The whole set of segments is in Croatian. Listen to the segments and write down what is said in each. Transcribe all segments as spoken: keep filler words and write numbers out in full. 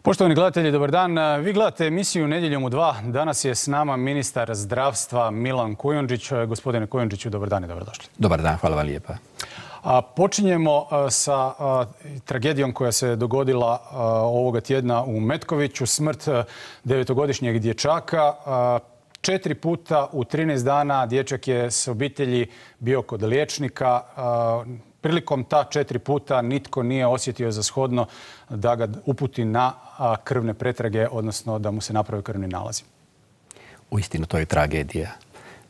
Poštovani gledatelji, dobar dan. Vi gledate emisiju Nedjeljom u dva. Danas je s nama ministar zdravstva Milan Kujundžić. Gospodine Kujundžiću, dobar dan i dobrodošli. Dobar dan, hvala vam lijepa. Počinjemo sa tragedijom koja se dogodila ovoga tjedna u Metkoviću. Smrt devetogodišnjeg dječaka. Četiri puta u trinaest dana dječak je s obitelji bio kod liječnika. Prilikom ta četiri puta nitko nije osjetio za shodno da ga uputi na krvne pretrage, odnosno da mu se napravi krvni nalazi. Uistinu, to je tragedija.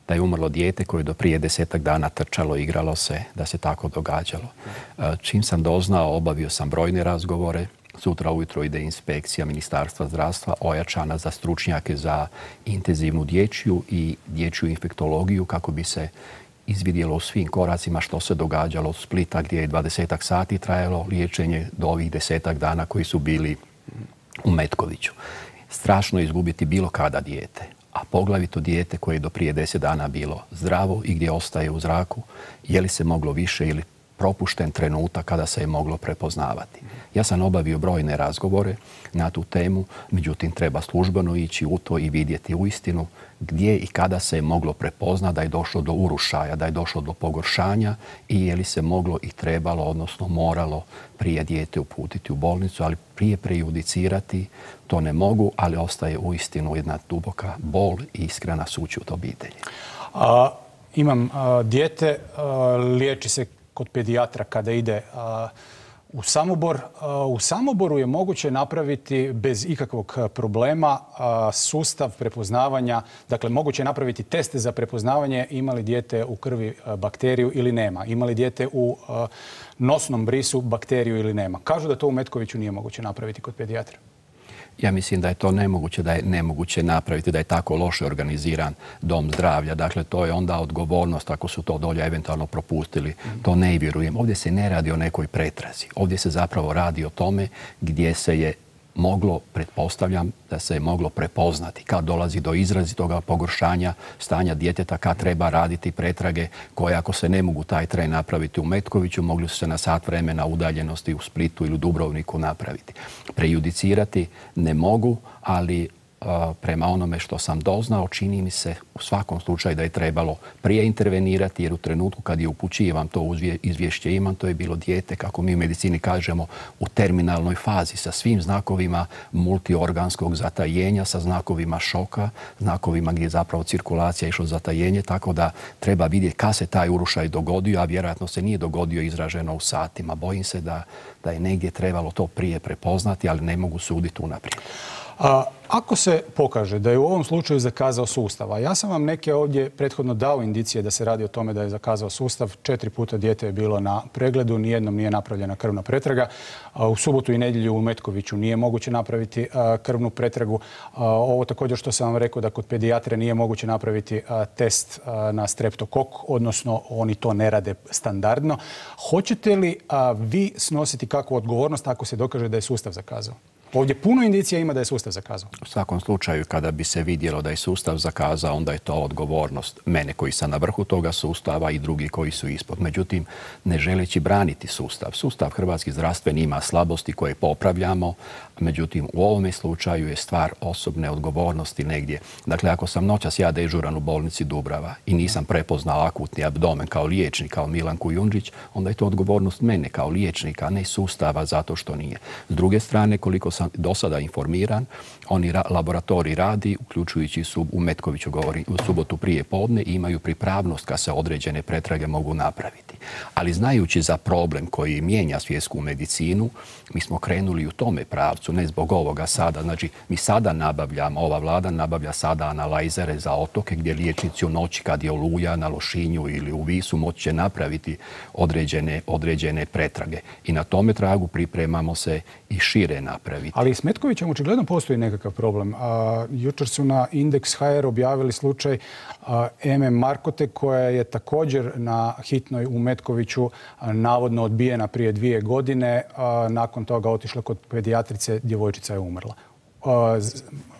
Da je umrlo dijete koje do prije desetak dana trčalo, igralo se, da se tako događalo. Čim sam doznao, obavio sam brojne razgovore. Sutra ujutro ide inspekcija Ministarstva zdravstva ojačana za stručnjake za intenzivnu dječju i dječju infektologiju kako bi se izvidjelo u svim koracima što se događalo od Splita gdje je dvadesetak sati trajalo liječenje do ovih desetak dana koji su bili u Metkoviću. Strašno je izgubiti bilo kada dijete, a poglavito dijete koje je do prije deset dana bilo zdravo i gdje ostaje u zraku, je li se moglo više ili propušten trenutak kada se je moglo prepoznavati. Ja sam obavio brojne razgovore na tu temu, međutim treba službeno ići u to i vidjeti uistinu gdje i kada se je moglo prepoznati da je došlo do urušaja, da je došlo do pogoršanja i je li se moglo i trebalo, odnosno moralo prije dijete uputiti u bolnicu, ali prije prejudicirati to ne mogu, ali ostaje uistinu jedna duboka bol i iskrena sućut obitelji. A, imam a, dijete, a, liječi se kod pedijatra kada ide a, u Samobor. A, u Samoboru je moguće napraviti bez ikakvog problema a, sustav prepoznavanja, dakle moguće je napraviti teste za prepoznavanje ima li dijete u krvi a, bakteriju ili nema, ima li dijete u a, nosnom brisu bakteriju ili nema. Kažu da to u Metkoviću nije moguće napraviti kod pedijatra. Ja mislim da je to nemoguće, da je nemoguće napraviti, da je tako loše organiziran dom zdravlja. Dakle, to je onda odgovornost ako su to dolje eventualno propustili. To ne vjerujem. Ovdje se ne radi o nekoj pretrazi. Ovdje se zapravo radi o tome gdje se je moglo, pretpostavljam, da se je moglo prepoznati kad dolazi do izrazitoga pogoršanja stanja djeteta, kad treba raditi pretrage koje ako se ne mogu taj tren napraviti u Metkoviću, mogli su se na sat vremena udaljenosti u Splitu ili u Dubrovniku napraviti. Prejudicirati ne mogu, ali prema onome što sam doznao, čini mi se u svakom slučaju da je trebalo prije intervenirati, jer u trenutku kad je upućivam to izvješće imam, to je bilo dijete, kako mi u medicini kažemo, u terminalnoj fazi sa svim znakovima multiorganskog zatajenja, sa znakovima šoka, znakovima gdje je zapravo cirkulacija išla zatajenje, tako da treba vidjeti kad se taj urušaj dogodio, a vjerojatno se nije dogodio izraženo u satima. Bojim se da, da je negdje trebalo to prije prepoznati, ali ne mogu suditi unaprijed. A, ako se pokaže da je u ovom slučaju zakazao sustav, a ja sam vam neke ovdje prethodno dao indicije da se radi o tome da je zakazao sustav, četiri puta dijete je bilo na pregledu, nijednom nije napravljena krvna pretraga. A, u subotu i nedjelju u Metkoviću nije moguće napraviti a, krvnu pretragu. A, ovo također što sam vam rekao da kod pedijatra nije moguće napraviti a, test a, na streptokok, odnosno oni to ne rade standardno. Hoćete li a, vi snositi kakvu odgovornost ako se dokaže da je sustav zakazao? Ovdje puno indicija ima da je sustav zakazao. U svakom slučaju, kada bi se vidjelo da je sustav zakazao, onda je to odgovornost mene koji sam na vrhu toga sustava i drugi koji su ispod. Međutim, ne želeći braniti sustav. Sustav hrvatski zdravstveni ima slabosti koje popravljamo, međutim, u ovome slučaju je stvar osobne odgovornosti negdje. Dakle, ako sam noćas ja dežuran u bolnici Dubrava i nisam prepoznao akutni abdomen kao liječnik, kao Milan Kujundžić, onda je to odgovornost mene kao liječnika, a ne sustava zato što nije. S druge strane, koliko sam do sada informiran, oni ra laboratorij radi, uključujući su u Metkoviću, govori, u subotu prije podne i imaju pripravnost kad se određene pretrage mogu napraviti. Ali znajući za problem koji mijenja svjetsku medicinu, mi smo krenuli u tome pravcu, ne zbog ovoga sada. Znači, mi sada nabavljamo, ova vlada nabavlja sada analajzere za otoke gdje liječnici u noći kad je oluja na Lošinju ili u Visu moći će napraviti određene, određene pretrage. I na tome tragu pripremamo se i šire napraviti. Ali s Metkovićem očigledno postoji nekakav problem. A, jučer su na Indeks ha er objavili slučaj a, Eme Markote koja je također na hitnoj u Metkoviću a, navodno odbijena prije dvije godine. A, nakon toga otišla kod pedijatrice, djevojčica je umrla. A,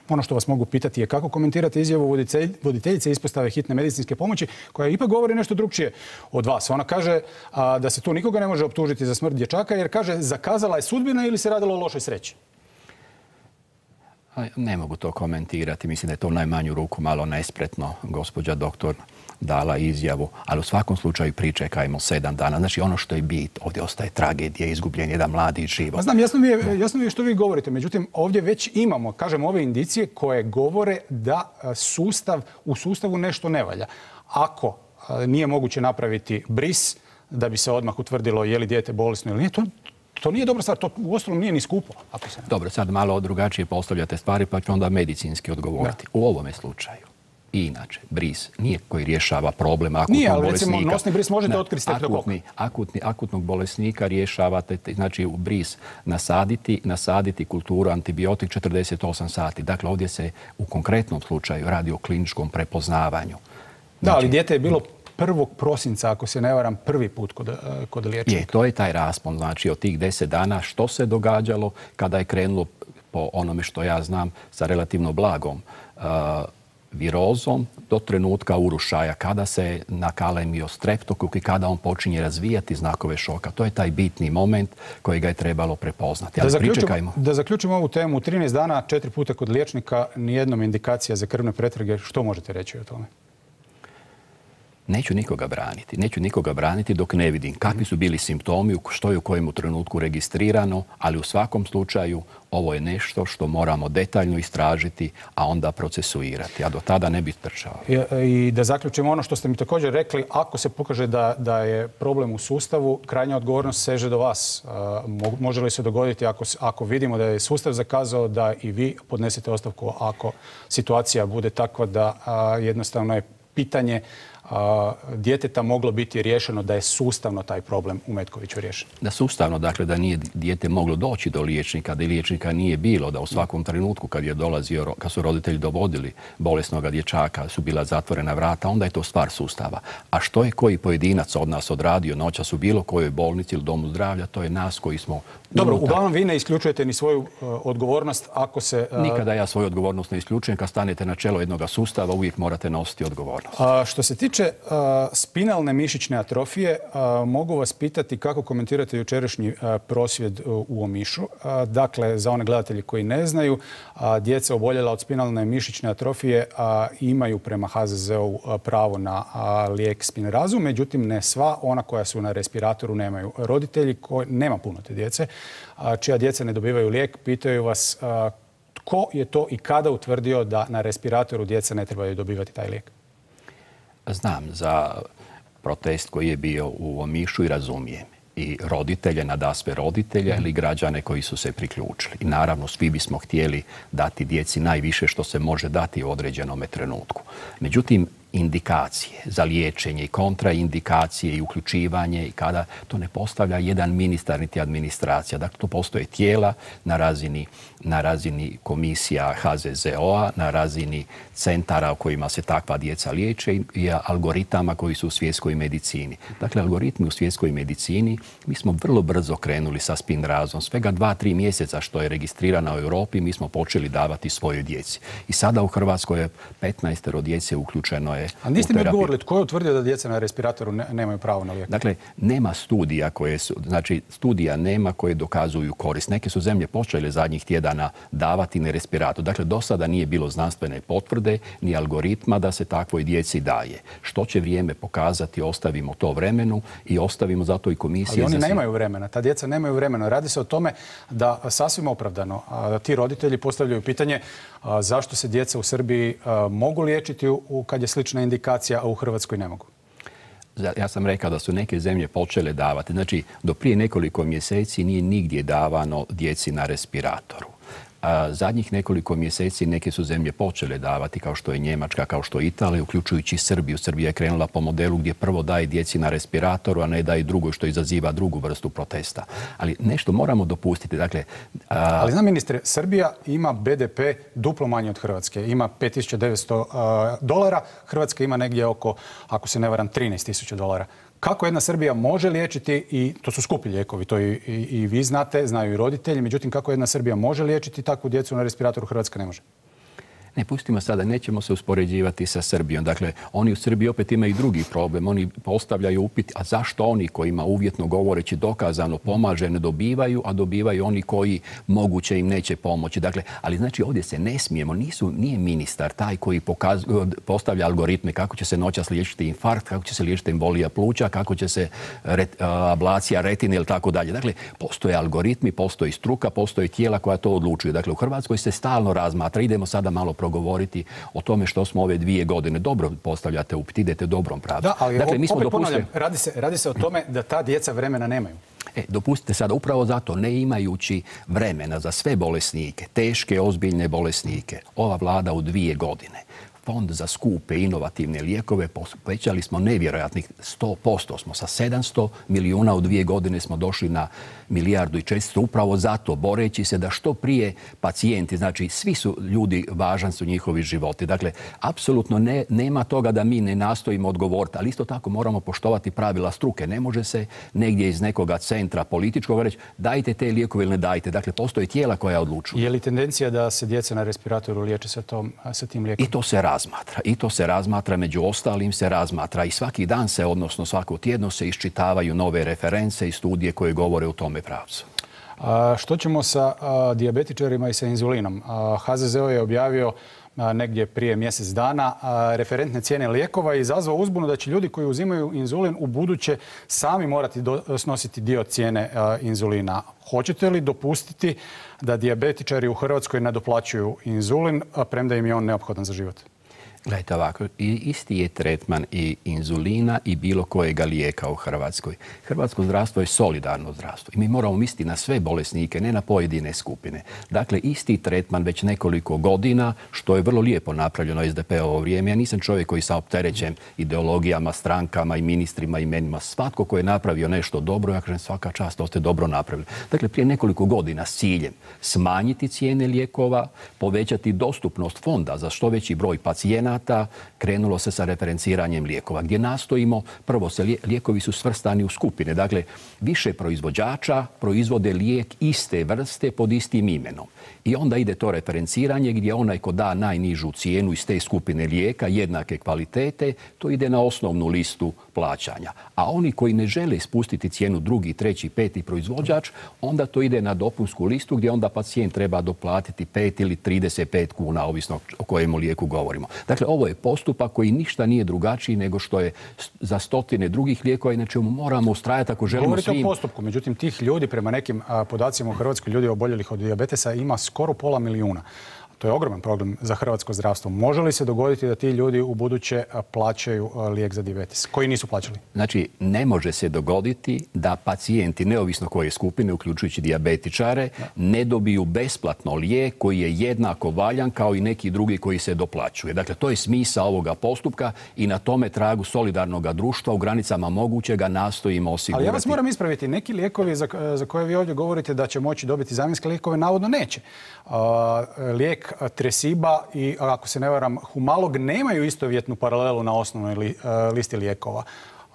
ono što vas mogu pitati je kako komentirate izjavu voditeljice ispostave hitne medicinske pomoći koja ipak govori nešto drugčije od vas. Ona kaže a, da se tu nikoga ne može optužiti za smrt dječaka jer kaže zakazala je sudbina ili se radilo o lošoj sreći. Ne mogu to komentirati. Mislim da je to u najmanju ruku malo nespretno. Gospođa doktor dala izjavu, ali u svakom slučaju pričekajmo sedam dana. Znači ono što je bit, ovdje ostaje tragedija, izgubljen jedan mladi život. Pa znam, jasno mi je, jasno mi je što vi govorite, međutim ovdje već imamo, kažem, ove indicije koje govore da sustav, u sustavu nešto ne valja. Ako nije moguće napraviti bris da bi se odmah utvrdilo je li dijete bolesno ili nije, to, to nije dobra stvar, to uostalom nije ni skupo. Ako se ne... Dobro, sad malo drugačije postavljate stvari, pa ću onda medicinski odgovoriti. Da. U ovome slučaju, i inače, bris nije koji rješava problem akutnog nije, ali bolesnika. Recimo, nosni bris možete otkriti streptokoka. Akutni, akutnog bolesnika rješavate, znači u bris nasaditi, nasaditi kulturu antibiotik četrdeset osam sati. Dakle, ovdje se u konkretnom slučaju radi o kliničkom prepoznavanju. Znači, da, ali dijete je bilo prvog prosinca, ako se ne varam, prvi put kod, kod liječnika. Je, to je taj raspon, znači od tih deset dana što se događalo kada je krenulo, po onome što ja znam, sa relativno blagom uh, virozom do trenutka urušaja, kada se nakalemio streptokok i kada on počinje razvijati znakove šoka. To je taj bitni moment koji ga je trebalo prepoznati. Ali da, zaključimo, da zaključimo ovu temu. trinaest dana, četiri puta kod liječnika, nijednom indikacija za krvne pretrage. Što možete reći o tome? Neću nikoga braniti. Neću nikoga braniti dok ne vidim kakvi su bili simptomi, što je u kojem trenutku registrirano, ali u svakom slučaju ovo je nešto što moramo detaljno istražiti, a onda procesuirati. A do tada ne bi trčao. I, I da zaključimo ono što ste mi također rekli, ako se pokaže da, da je problem u sustavu, krajnja odgovornost seže do vas. Može li se dogoditi ako, ako vidimo da je sustav zakazao da i vi podnesete ostavku ako situacija bude takva da a, jednostavno je pitanje a, djeteta moglo biti riješeno, da je sustavno taj problem u Metkoviću riješen? Da sustavno, dakle da nije dijete moglo doći do liječnika, da liječnika nije bilo, da u svakom trenutku kad je dolazio, kad su roditelji dovodili bolesnog dječaka, su bila zatvorena vrata, onda je to stvar sustava. A što je koji pojedinac od nas odradio noćas u bilo kojoj bolnici ili domu zdravlja, to je nas koji smo... Dobro, uglavnom vi ne isključujete ni svoju uh, odgovornost ako se... Uh... Nikada ja svoju odgovornost ne isključujem. Kad stanete na čelo jednog sustava, uvijek morate nositi odgovornost. A, što se tiče uh, spinalne mišićne atrofije, uh, mogu vas pitati kako komentirate jučerašnji uh, prosvjed uh, u Omišu. Uh, dakle, za one gledatelji koji ne znaju, uh, djeca oboljela od spinalne mišićne atrofije uh, imaju prema H Z Z-u uh, pravo na uh, lijek Spinrazu, međutim ne sva, ona koja su na respiratoru nemaju. Roditelji, koji, nema puno te djece, čija djeca ne dobivaju lijek, pitaju vas tko je to i kada utvrdio da na respiratoru djeca ne trebaju dobivati taj lijek? Znam za protest koji je bio u Omišu i razumijem. I roditelje, nadasve roditelje ili građane koji su se priključili. I naravno svi bismo htjeli dati djeci najviše što se može dati u određenom trenutku. Međutim, indikacije za liječenje i kontraindikacije i uključivanje i kada to ne postavlja jedan ministar niti administracija. Dakle, to postoje tijela na razini, na razini komisija H Z Z O-a, na razini centara u kojima se takva djeca liječe i algoritama koji su u svjetskoj medicini. Dakle, algoritmi u svjetskoj medicini, mi smo vrlo brzo krenuli sa Spinrazom. Svega dva, tri mjeseca što je registrirana u Europi, mi smo počeli davati svojoj djeci. I sada u Hrvatskoj je petnaestero djece uključeno je. A niste mi odgovorili tko je utvrdio da djeca na respiratoru ne, nemaju pravo na lijek? Dakle, nema studija koje su, znači studija nema koje dokazuju korist. Neke su zemlje počele zadnjih tjedana davati na respirator. Dakle, do sada nije bilo znanstvene potvrde ni algoritma da se takvoj djeci daje. Što će vrijeme pokazati, ostavimo to vremenu i ostavimo zato i komisije. Ali oni nemaju vremena, ta djeca nemaju vremena. Radi se o tome da sasvim opravdano a, ti roditelji postavljaju pitanje a, zašto se djeca u Srbiji a, mogu liječiti u, u, kad je slična indikacija, a u Hrvatskoj ne mogu. Ja sam rekao da su neke zemlje počele davati. Znači, do prije nekoliko mjeseci nije nigdje davano djeci na respiratoru. A zadnjih nekoliko mjeseci neke su zemlje počele davati, kao što je Njemačka, kao što je Italija, uključujući Srbiju. Srbija je krenula po modelu gdje prvo daje djeci na respiratoru, a ne daje drugo, što izaziva drugu vrstu protesta. Ali nešto moramo dopustiti. Dakle, a... Ali znam, ministre, Srbija ima B D P duplo manje od Hrvatske. Ima pet tisuća devetsto dolara, Hrvatska ima negdje oko, ako se ne varam, trinaest tisuća dolara. Kako jedna Srbija može liječiti, i to su skupi lijekovi, to i, i, i vi znate, znaju i roditelji, međutim kako jedna Srbija može liječiti takvu djecu na respiratoru, Hrvatska ne može? Ne, pustimo sada, nećemo se uspoređivati sa Srbijom. Dakle, oni u Srbiji opet imaju drugi problem. Oni postavljaju upit, a zašto oni kojima uvjetno govoreći dokazano pomaže ne dobivaju, a dobivaju oni koji moguće im neće pomoći. Dakle, ali znači ovdje se ne smijemo, nisu, nije ministar taj koji pokaz, postavlja algoritme kako će se noćas liječiti infarkt, kako će se liječiti embolija pluća, kako će se ret, ablacija retine ili tako dalje. Dakle, postoje algoritmi, postoji struka, postoje tijela koja to odlučuju. Dakle, u Hrvatskoj se stalno razmatra. Idemo sada malo progovoriti o tome što smo ove dvije godine. Dobro postavljate upit, idete dobrom pravcu. Da, ali dakle, mi smo opet dopustili... ponavljam, radi se, radi se o tome da ta djeca vremena nemaju. E, dopustite sada, upravo zato, ne imajući vremena za sve bolesnike, teške, ozbiljne bolesnike, ova vlada u dvije godine Fond za skupe inovativne lijekove povećali smo nevjerojatnih sto posto. Smo sa sedamsto milijuna u dvije godine smo došli na milijardu i četiristo. Upravo zato, boreći se da što prije pacijenti, znači svi su ljudi, važan su njihovi životi. Dakle, apsolutno ne, nema toga da mi ne nastojimo odgovoriti, ali isto tako moramo poštovati pravila struke. Ne može se negdje iz nekoga centra političkog reći dajte te lijekove ili ne dajte. Dakle, postoje tijela koja odlučuju. Je li tendencija da se djeca na respiratoru liječe sa, tom, sa tim lijekom? I to se razmatra. I to se razmatra, među ostalim se razmatra i svaki dan se, odnosno svako tjedno se iščitavaju nove reference i studije koje govore u tome pravcu. A, što ćemo sa a, dijabetičarima i sa inzulinom? A, H Z Z O je objavio a, negdje prije mjesec dana a, referentne cijene lijekova i izazvao uzbunu da će ljudi koji uzimaju inzulin u buduće sami morati do, snositi dio cijene a, inzulina. Hoćete li dopustiti da dijabetičari u Hrvatskoj nadoplaćuju inzulin, a premda im je on neophodan za život? Gledajte ovako, isti je tretman i inzulina i bilo kojega lijeka u Hrvatskoj. Hrvatsko zdravstvo je solidarno zdravstvo i mi moramo misliti na sve bolesnike, ne na pojedine skupine. Dakle, isti tretman već nekoliko godina, što je vrlo lijepo napravljeno S D P-ovo vrijeme. Ja nisam čovjek koji sam opterećen ideologijama, strankama i ministrima, imenima. Svatko koji je napravio nešto dobro, ja kažem svaka čast, to ste dobro napravili. Dakle, prije nekoliko godina s ciljem smanjiti cijene lijekova, povećati dostupnost fonda za što veći broj pacijenata, krenulo se sa referenciranjem lijekova, gdje nastojimo, prvo se lijekovi su svrstani u skupine, dakle više proizvođača proizvode lijek iste vrste pod istim imenom. I onda ide to referenciranje gdje onaj ko da najnižu cijenu iz te skupine lijeka, jednake kvalitete, to ide na osnovnu listu plaćanja. A oni koji ne žele spustiti cijenu drugi, treći, peti proizvođač, onda to ide na dopunsku listu gdje onda pacijent treba doplatiti pet ili trideset pet kuna, ovisno o kojemu lijeku govorimo. Dakle, ovo je postupak koji ništa nije drugačiji nego što je za stotine drugih lijekova, inače moramo ustrajati ako želimo Govorite svim... o postupku, međutim tih ljudi prema nekim a, podacima u Hrvatskoj, ljudi oboljelih od dijabetesa ima skoro pola milijuna. To je ogroman problem za hrvatsko zdravstvo. Može li se dogoditi da ti ljudi u buduće plaćaju lijek za dijabetes koji nisu plaćali? Znači, ne može se dogoditi da pacijenti, neovisno koje skupine, uključujući dijabetičare, ne dobiju besplatno lijek koji je jednako valjan kao i neki drugi koji se doplaćuje. Dakle, to je smisao ovoga postupka i na tome tragu solidarnog društva u granicama mogućega nastojimo osigurati. Ali ja vas moram ispraviti. Neki lijekovi za, za koje vi ovdje govorite da će moći dobiti zamjenske lijekove, navodno neće. Uh, lijek Tresiba i, ako se ne varam, Humalog nemaju istovjetnu paralelu na osnovnoj li, uh, listi lijekova.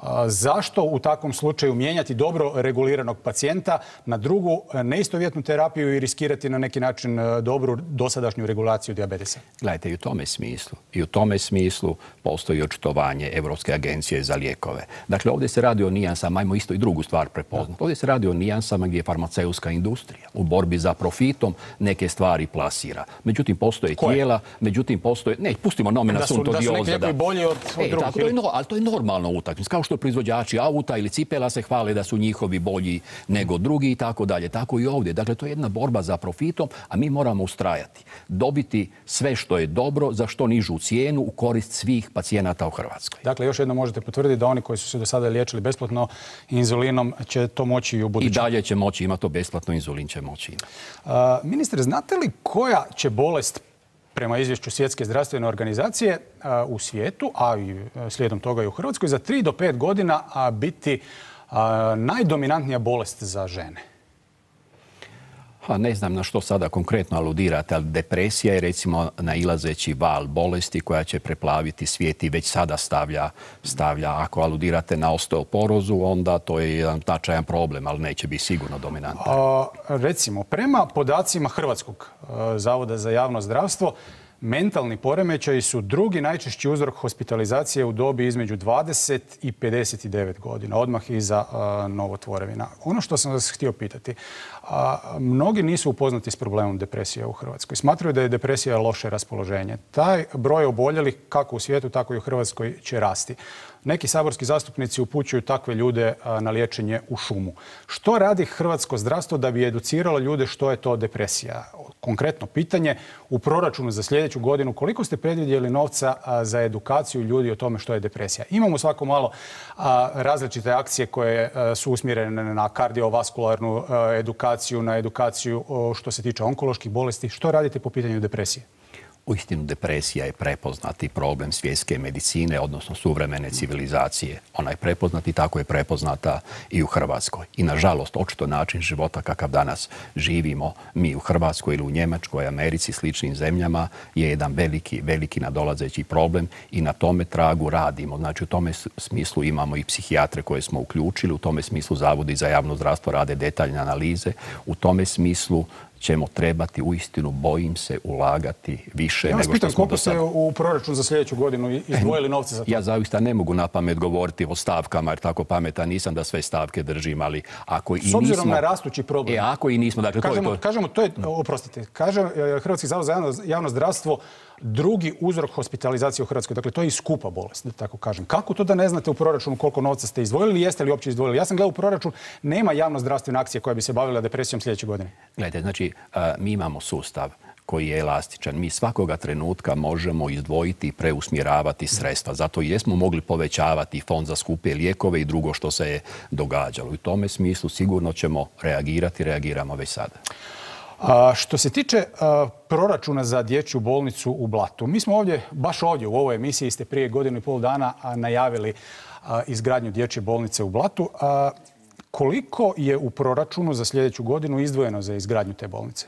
Uh, zašto u takvom slučaju mijenjati dobro reguliranog pacijenta na drugu neistovjetnu terapiju i riskirati na neki način uh, dobru dosadašnju regulaciju dijabetesa? Gledajte, i u tome smislu, i u tome smislu postoji očitovanje Europske agencije za lijekove. Dakle, ovdje se radi o nijansama, ajmo isto i drugu stvar prepoznati. Ovdje se radi o nijansama gdje je farmaceutska industrija u borbi za profitom neke stvari plasira. Međutim, postoje Koje? tijela, međutim, postoje... Ne, pustimo nomina sunto dioza. Da su neki lijekovi bolji od, od e, drugih. tako, to je no, ali to je normalno utakmica. Kao što proizvođači auta ili cipela se hvale da su njihovi bolji nego drugi i tako dalje. Tako i ovdje. Dakle, to je jedna borba za profitom, a mi moramo ustrajati. Dobiti sve što je dobro za što nižu cijenu u korist svih pacijenata u Hrvatskoj. Dakle, još jedno možete potvrditi da oni koji su se do sada liječili besplatno inzulinom će to moći i u budućnosti. I dalje će moći, ima to besplatno, inzulin će moći imati. Uh, ministre, znate li koja će bolest prema izvješću Svjetske zdravstvene organizacije uh, u svijetu, a i slijedom toga i u Hrvatskoj, za tri do pet godina uh, biti uh, najdominantnija bolest za žene? Ha, ne znam na što sada konkretno aludirate, ali depresija je recimo nailazeći val bolesti koja će preplaviti svijet i već sada stavlja, stavlja. Ako aludirate na osteoporozu, onda to je jedan značajan problem, ali neće biti sigurno dominantan. Recimo, prema podacima Hrvatskog zavoda za javno zdravstvo, Mentalni poremećaji su drugi najčešći uzrok hospitalizacije u dobi između dvadeset i pedeset devet godina, odmah iza a, novotvorevina. Ono što sam vas htio pitati, a, mnogi nisu upoznati s problemom depresije u Hrvatskoj. Smatraju da je depresija loše raspoloženje. Taj broj oboljelih kako u svijetu, tako i u Hrvatskoj će rasti. Neki saborski zastupnici upućuju takve ljude na liječenje u šumu. Što radi hrvatsko zdravstvo da bi educiralo ljude što je to depresija? Konkretno pitanje, u proračunu za sljedeću godinu koliko ste predvidjeli novca za edukaciju ljudi o tome što je depresija? Imamo svako malo različite akcije koje su usmjerene na kardiovaskularnu edukaciju, na edukaciju što se tiče onkoloških bolesti. Što radite po pitanju depresije? Uistinu, depresija je prepoznati problem svjetske medicine, odnosno suvremene civilizacije. Ona je prepoznata i tako je prepoznata i u Hrvatskoj. I nažalost, očito način života kakav danas živimo mi u Hrvatskoj ili u Njemačkoj, Americi, sličnim zemljama je jedan veliki, veliki nadolazeći problem i na tome tragu radimo. Znači, u tome smislu imamo i psihijatre koje smo uključili, u tome smislu Zavodi za javno zdravstvo rade detaljne analize, u tome smislu ćemo trebati, uistinu, bojim se, ulagati više ja nego što pitam, smo koliko do sada. ste u proračun za sljedeću godinu izdvojili novce za to? Ja zaista ne mogu na pamet govoriti o stavkama, jer tako pametan nisam da sve stavke držim, ali ako i nismo... S obzirom na rastući problem. E, ako i nismo, dakle, kažemo, to je to. Kažemo, to je, oprostite, kaže Hrvatski zavod za javno, javno zdravstvo drugi uzrok hospitalizacije u Hrvatskoj. Dakle, to je i skupa bolest, da tako kažem. Kako to da ne znate u proračunu koliko novca ste izdvojili, jeste li uopće izdvojili? Ja sam gledao u proračun, nema javno-zdravstvene akcije koja bi se bavila depresijom sljedeće godine. Gledajte, znači, mi imamo sustav koji je elastičan. Mi svakoga trenutka možemo izdvojiti i preusmjeravati sredstva. Zato i jesmo mogli povećavati fond za skupe lijekove i drugo što se je događalo. U tome smislu sigurno ćemo reagirati, reagiramo već sada. A, što se tiče a, proračuna za dječju bolnicu u Blatu, mi smo ovdje, baš ovdje u ovoj emisiji ste prije godinu i pol dana a, najavili a, izgradnju dječje bolnice u Blatu. A, koliko je u proračunu za sljedeću godinu izdvojeno za izgradnju te bolnice?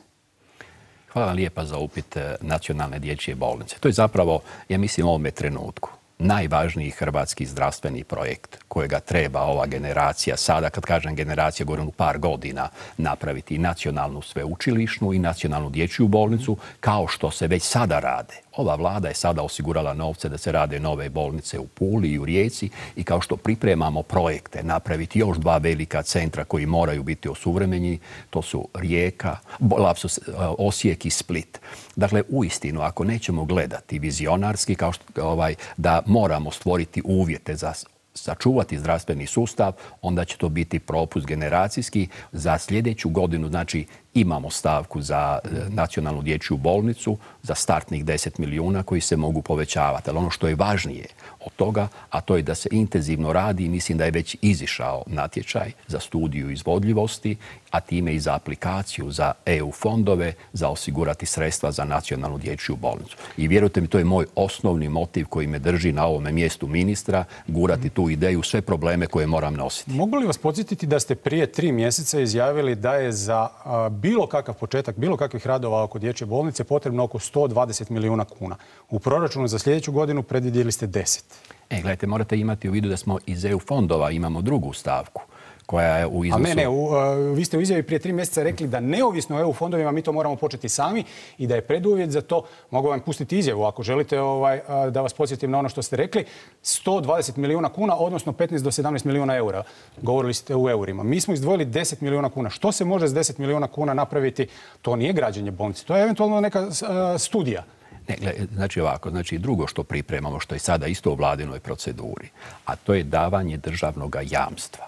Hvala vam lijepa za upit nacionalne dječje bolnice. To je zapravo, ja mislim, u ovome trenutku najvažniji hrvatski zdravstveni projekt kojega treba ova generacija, sada kad kažem generacija, govorim u par godina, napraviti i nacionalnu sveučilišnu i nacionalnu dječju bolnicu, kao što se već sada rade. Ova vlada je sada osigurala novce da se rade nove bolnice u Puli i u Rijeci i kao što pripremamo projekte napraviti još dva velika centra koji moraju biti osuvremenjeni, to su Rijeka, lapsus, Osijek i Split. Dakle, uistinu, ako nećemo gledati vizionarski, kao što, ovaj, da moramo stvoriti uvjete za sačuvati zdravstveni sustav, onda će to biti propust generacijski. Za sljedeću godinu, znači, imamo stavku za nacionalnu dječju bolnicu, za startnih deset milijuna koji se mogu povećavati. Ali ono što je važnije od toga, a to je da se intenzivno radi i mislim da je već izišao natječaj za studiju izvodljivosti, a time i za aplikaciju za E U fondove za osigurati sredstva za nacionalnu dječju bolnicu. I vjerujte mi, to je moj osnovni motiv koji me drži na ovome mjestu ministra, gurati tu ideju, sve probleme koje moram nositi. Mogu li vas podsjetiti da ste prije tri mjeseca izjavili da je za a, bilo kakav početak, bilo kakvih radova oko dječje bolnice potrebno oko sto dvadeset milijuna kuna. U proračunu za sljedeću godinu predvidjeli ste deset. E, gledajte, morate imati u vidu da smo iz E U fondova imamo drugu stavku koja je u iznosu... A ne, ne, u, uh, vi ste u izjavi prije tri mjeseca rekli da neovisno o E U fondovima mi to moramo početi sami i da je preduvjet za to, mogu vam pustiti izjavu ako želite ovaj, uh, da vas podsjetim na ono što ste rekli, sto dvadeset milijuna kuna, odnosno petnaest do sedamnaest milijuna eura. Govorili ste u eurima. Mi smo izdvojili deset milijuna kuna. Što se može s deset milijuna kuna napraviti? To nije građenje bolnice, to je eventualno neka uh, studija. Ne, znači ovako, znači drugo što pripremamo, što je sada isto u vladinoj proceduri, a to je davanje državnog jamstva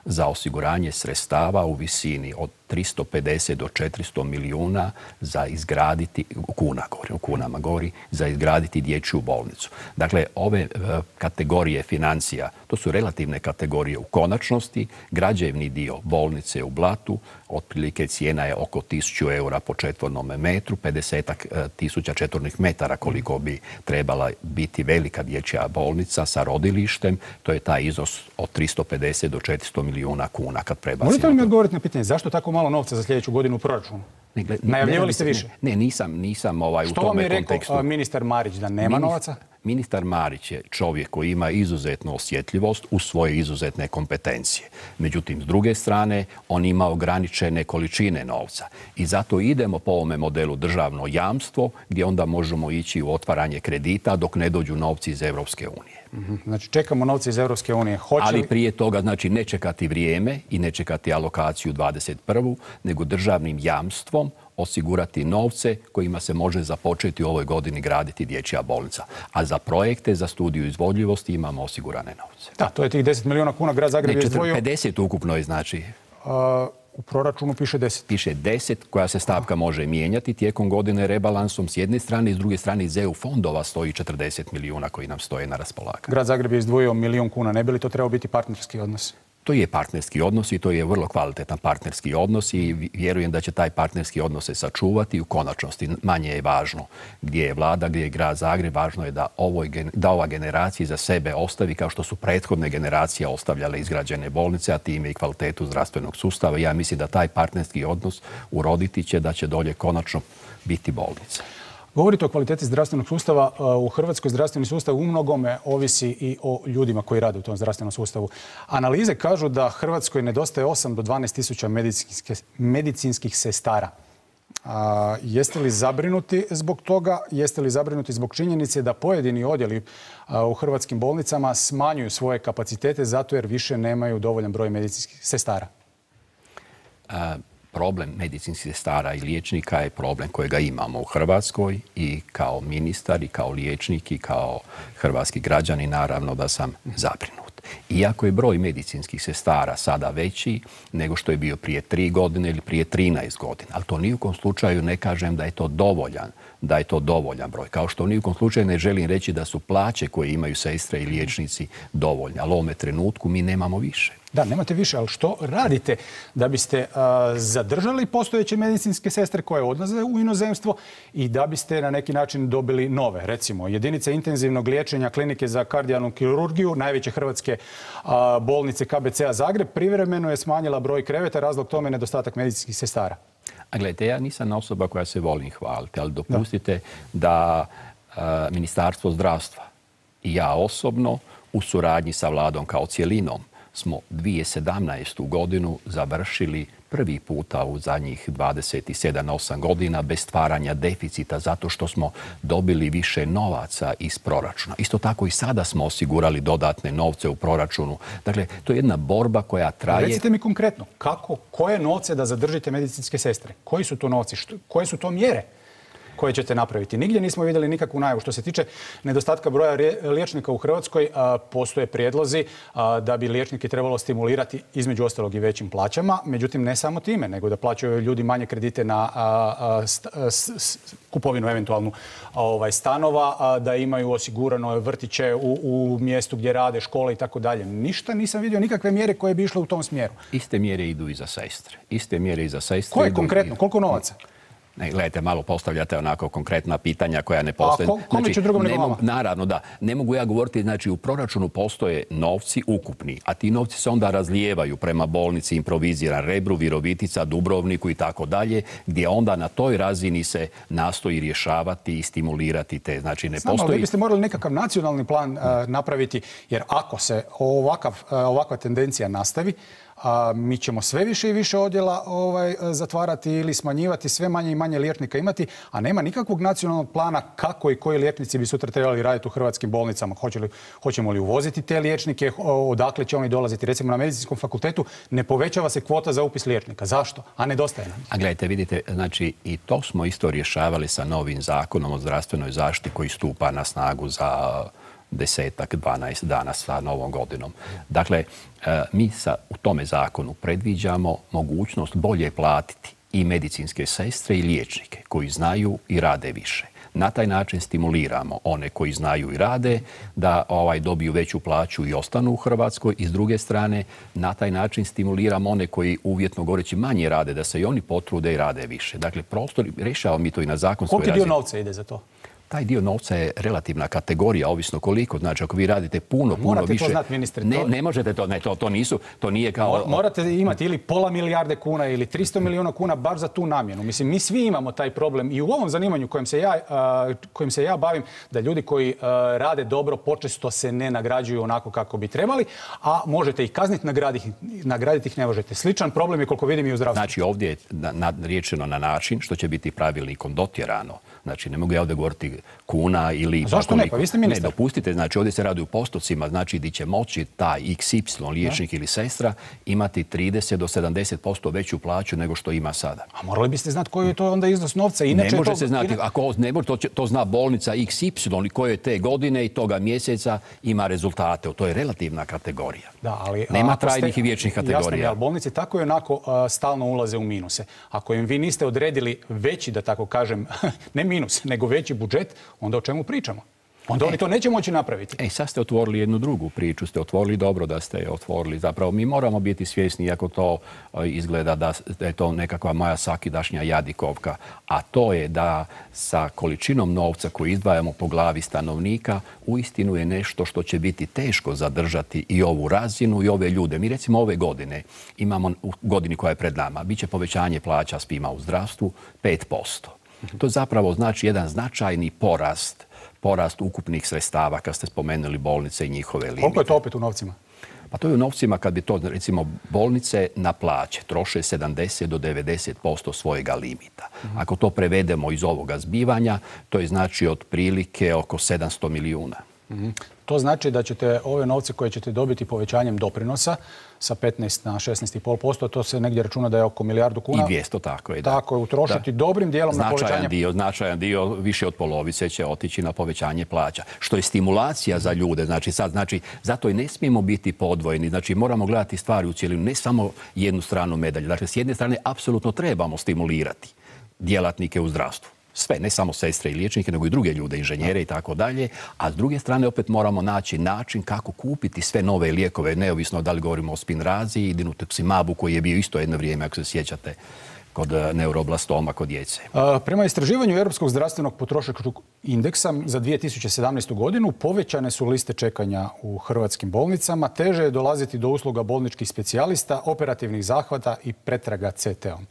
za osiguranje sredstava u visini od tristo pedeset do četiristo milijuna za izgraditi, kuna govorim, o kunama govori, za izgraditi dječju bolnicu. Dakle, ove e, kategorije financija, to su relativne kategorije u konačnosti. Građevni dio bolnice u Blatu, otprilike cijena je oko tisuću eura po četvornom metru, pedeset tisuća četvornih metara koliko bi trebala biti velika dječja bolnica sa rodilištem. To je taj iznos od tristo pedeset do četiristo milijuna kuna kad prebacimo. Možete li mi odgovoriti na pitanje zašto tako malo novca za sljedeću godinu u proračunu? Ne, gled, Najavljivali ne, ste više? Ne, ne nisam, nisam ovaj, u tome kontekstu. Što vam je rekao ministar Marić, da nema Minist, novaca? ministar Marić je čovjek koji ima izuzetnu osjetljivost u svoje izuzetne kompetencije. Međutim, s druge strane, on ima ograničene količine novca. I zato idemo po ovome modelu državno jamstvo, gdje onda možemo ići u otvaranje kredita dok ne dođu novci iz Europske unije. Mm-hmm. Znači, čekamo novce iz Europske unije. Hoće Ali li... prije toga, znači, ne čekati vrijeme i ne čekati alokaciju dvadeset prvu nego državnim jamstvom osigurati novce kojima se može započeti u ovoj godini graditi dječja bolnica. A za projekte, za studiju izvodljivosti imamo osigurane novce. Da, to je tih deset milijuna kuna. Grad Zagreb je izdvojio... pedeset ukupno je, znači... Uh, u proračunu piše deset. Piše deset, koja se stavka može mijenjati tijekom godine rebalansom s jedne strane i s druge strane iz E U fondova stoji četrdeset milijuna koji nam stoje na raspolaganju. Grad Zagreb je izdvojio milijun kuna. Ne bi li to trebao biti partnerski odnos? To je partnerski odnos i to je vrlo kvalitetan partnerski odnos i vjerujem da će taj partnerski odnos se sačuvati. U konačnosti manje je važno gdje je vlada, gdje je grad Zagreb. Važno je da, ovoj, da ova generacija za sebe ostavi kao što su prethodne generacije ostavljale izgrađene bolnice, a time i kvalitetu zdravstvenog sustava. Ja mislim da taj partnerski odnos uroditi će da će dolje konačno biti bolnica. Govorite o kvaliteti zdravstvenog sustava. U Hrvatskoj zdravstveni sustav u mnogome ovisi i o ljudima koji rade u tom zdravstvenom sustavu. Analize kažu da Hrvatskoj nedostaje osam do dvanaest tisuća medicinskih sestara. A, jeste li zabrinuti zbog toga? Jeste li zabrinuti zbog činjenice da pojedini odjeli a, u hrvatskim bolnicama smanjuju svoje kapacitete zato jer više nemaju dovoljan broj medicinskih sestara? A... Problem medicinskih sestara i liječnika je problem kojega imamo u Hrvatskoj i kao ministar i kao liječnik i kao hrvatski građani naravno da sam zabrinut. Iako je broj medicinskih sestara sada veći nego što je bio prije tri godine ili prije trinaest godina, ali to nijukom slučaju ne kažem da je to dovoljan, da je to dovoljan broj. Kao što nijukom slučaju ne želim reći da su plaće koje imaju sestre i liječnici dovoljne, ali u ovome trenutku mi nemamo više. Da, nemate više, ali što radite da biste a, zadržali postojeće medicinske sestre koje odlaze u inozemstvo i da biste na neki način dobili nove? Recimo, jedinica intenzivnog liječenja klinike za kardijalnu kirurgiju, najveće hrvatske a, bolnice K B C-a Zagreb, privremeno je smanjila broj kreveta, razlog tome je nedostatak medicinskih sestara. A gledajte, ja nisam osoba koja se volim hvaliti, ali dopustite da, da a, Ministarstvo zdravstva i ja osobno u suradnji sa vladom kao cjelinom smo dvije tisuće sedamnaestu. godinu završili prvi puta u zadnjih dvadeset sedam osam godina bez stvaranja deficita zato što smo dobili više novaca iz proračuna. Isto tako i sada smo osigurali dodatne novce u proračunu. Dakle, to je jedna borba koja traje... Recite mi konkretno, kako, koje novce da zadržite medicinske sestre? Koji su to novci? Što, koje su to mjere koje ćete napraviti? Nigdje nismo vidjeli nikakvu najavu. Što se tiče nedostatka broja liječnika u Hrvatskoj, a, postoje prijedlozi a, da bi liječnike trebalo stimulirati između ostalog i većim plaćama. Međutim, ne samo time, nego da plaćaju ljudi manje kredite na a, a, st, a, s, s, kupovinu eventualnu a, ovaj, stanova, a, da imaju osigurano vrtiće u, u mjestu gdje rade, škole i tako dalje. Ništa nisam vidio, nikakve mjere koje bi išle u tom smjeru. Iste mjere idu i za sestre. Iste mjere i za sestre. Koje konkretno? Koliko novaca? Ne, gledajte, malo postavljate onako konkretna pitanja koja ne postoje. A ko, kome će drugom nego vama? Naravno, da. Ne mogu ja govoriti, znači u proračunu postoje novci ukupni, a ti novci se onda razlijevaju prema bolnici improviziran Rebru, Virovitica, Dubrovniku i tako dalje, gdje onda na toj razini se nastoji rješavati i stimulirati te. Znači ne Znam, postoji... ali vi biste morali nekakav nacionalni plan uh, napraviti, jer ako se ovakav, uh, ovakva tendencija nastavi, a mi ćemo sve više i više odjela ovaj, zatvarati ili smanjivati, sve manje i manje liječnika imati, a nema nikakvog nacionalnog plana kako i koji liječnici bi sutra trebali raditi u hrvatskim bolnicama. Hoće li, hoćemo li uvoziti te liječnike, odakle će oni dolaziti? Recimo na medicinskom fakultetu ne povećava se kvota za upis liječnika. Zašto? A nedostaje nam. A gledajte, vidite, znači i to smo isto rješavali sa novim zakonom o zdravstvenoj zaštiti koji stupa na snagu za desetak, dvanaest dana sa novom godinom. Dakle, mi sa, u tome zakonu predviđamo mogućnost bolje platiti i medicinske sestre i liječnike koji znaju i rade više. Na taj način stimuliramo one koji znaju i rade da ovaj, dobiju veću plaću i ostanu u Hrvatskoj i s druge strane na taj način stimuliramo one koji uvjetno govoreći manje rade da se i oni potrude i rade više. Dakle, prostor, rješavamo mi to i na zakonskoj razini. Koliki dio novca ide za to? Taj dio novca je relativna kategorija, ovisno koliko. Znači, ako vi radite puno, puno Morate više... to znati, ministre. Ne, to... ne možete to, ne, to, to nisu, to nije kao... Morate imati ili pola milijarde kuna ili tristo milijuna kuna baš za tu namjenu. Mislim, mi svi imamo taj problem i u ovom zanimanju kojim se ja, uh, kojim se ja bavim, da ljudi koji uh, rade dobro počesto se ne nagrađuju onako kako bi trebali, a možete ih kazniti, nagraditi, nagraditi ih ne možete. Sličan problem je koliko vidim i u zdravstvu. Znači, ovdje je na, na, riječeno na način što će biti pravilnikom dotjerano. Znači, ne mogu ja ovdje govoriti kuna ili... A zašto ne? Pa vi ste ministar. Ne, dopustite. Znači, ovdje se radi u postocima. Znači, di će moći taj iks ipsilon liječnik ili sestra imati trideset do sedamdeset posto veću plaću nego što ima sada. A morali biste znati koji je to onda iznos novca. Inače ne može to... se znati. Ako ne može, to, to zna bolnica iks ipsilon koje te godine i toga mjeseca ima rezultate. To je relativna kategorija. Da, ali, nema trajnih ste... i vječnih kategorija. Jasno, ali bolnice tako i onako uh, stalno ulaze u minuse. Ako im vi niste odredili veći, da tako kažem, ne minus, nego veći budžet, onda o čemu pričamo? Onda oni to neće moći napraviti. E, sad ste otvorili jednu drugu priču. Ste otvorili dobro da ste je otvorili. Zapravo, mi moramo biti svjesni, iako to izgleda da je to nekakva moja svakidašnja jadikovka, a to je da sa količinom novca koju izdvajamo po glavi stanovnika uistinu je nešto što će biti teško zadržati i ovu razinu i ove ljude. Mi recimo ove godine imamo, u godini koja je pred nama, bit će povećanje plaća svima u zdravstvu pet posto. To zapravo znači jedan značajni porast porast ukupnih sredstava, kad ste spomenuli bolnice i njihove limite. Koliko je to opet u novcima? Pa to je u novcima kad bi to, recimo, bolnice na plaće troše sedamdeset do devedeset posto svojega limita. Mm-hmm. Ako to prevedemo iz ovoga zbivanja, to je znači otprilike oko sedamsto milijuna. Mm-hmm. To znači da ćete ove novce koje ćete dobiti povećanjem doprinosa sa petnaest na šesnaest zarez pet posto, to se negdje računa da je oko milijardu kuna. I dvjesto, tako je. Da. Tako je, utrošiti da. dobrim dijelom značajan na povećanje... Dio, značajan dio, više od polovice će otići na povećanje plaća. Što je stimulacija za ljude. Znači, sad, znači, zato i ne smijemo biti podvojeni. Znači, moramo gledati stvari u cijelinu, ne samo jednu stranu medalje. Dakle, s jedne strane, apsolutno trebamo stimulirati djelatnike u zdravstvu. Sve, ne samo sestre i liječnike, nego i druge ljude, inženjere i tako dalje. A s druge strane opet moramo naći način kako kupiti sve nove lijekove, neovisno da li govorimo o Spinrazi i dinutuximabu koji je bio isto jedno vrijeme, ako se sjećate, kod neuroblastoma kod djece. A, prema istraživanju Europskog zdravstvenog potrošačkog indeksa za dvije tisuće sedamnaestu. godinu povećane su liste čekanja u hrvatskim bolnicama, teže je dolaziti do usluga bolničkih specijalista, operativnih zahvata i pretraga ce te om.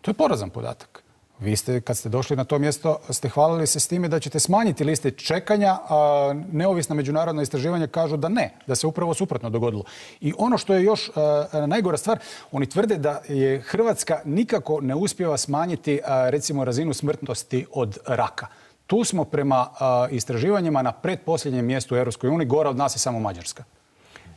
To je porazan podatak. Vi ste, kad ste došli na to mjesto, ste hvalili se s time da ćete smanjiti liste čekanja, a neovisna međunarodna istraživanja kažu da ne, da se upravo suprotno dogodilo. I ono što je još a, najgora stvar, oni tvrde da je Hrvatska nikako ne uspijeva smanjiti a, recimo razinu smrtnosti od raka. Tu smo prema a, istraživanjima na pretposljednjem mjestu u Europskoj uniji, gora od nas je samo Mađarska.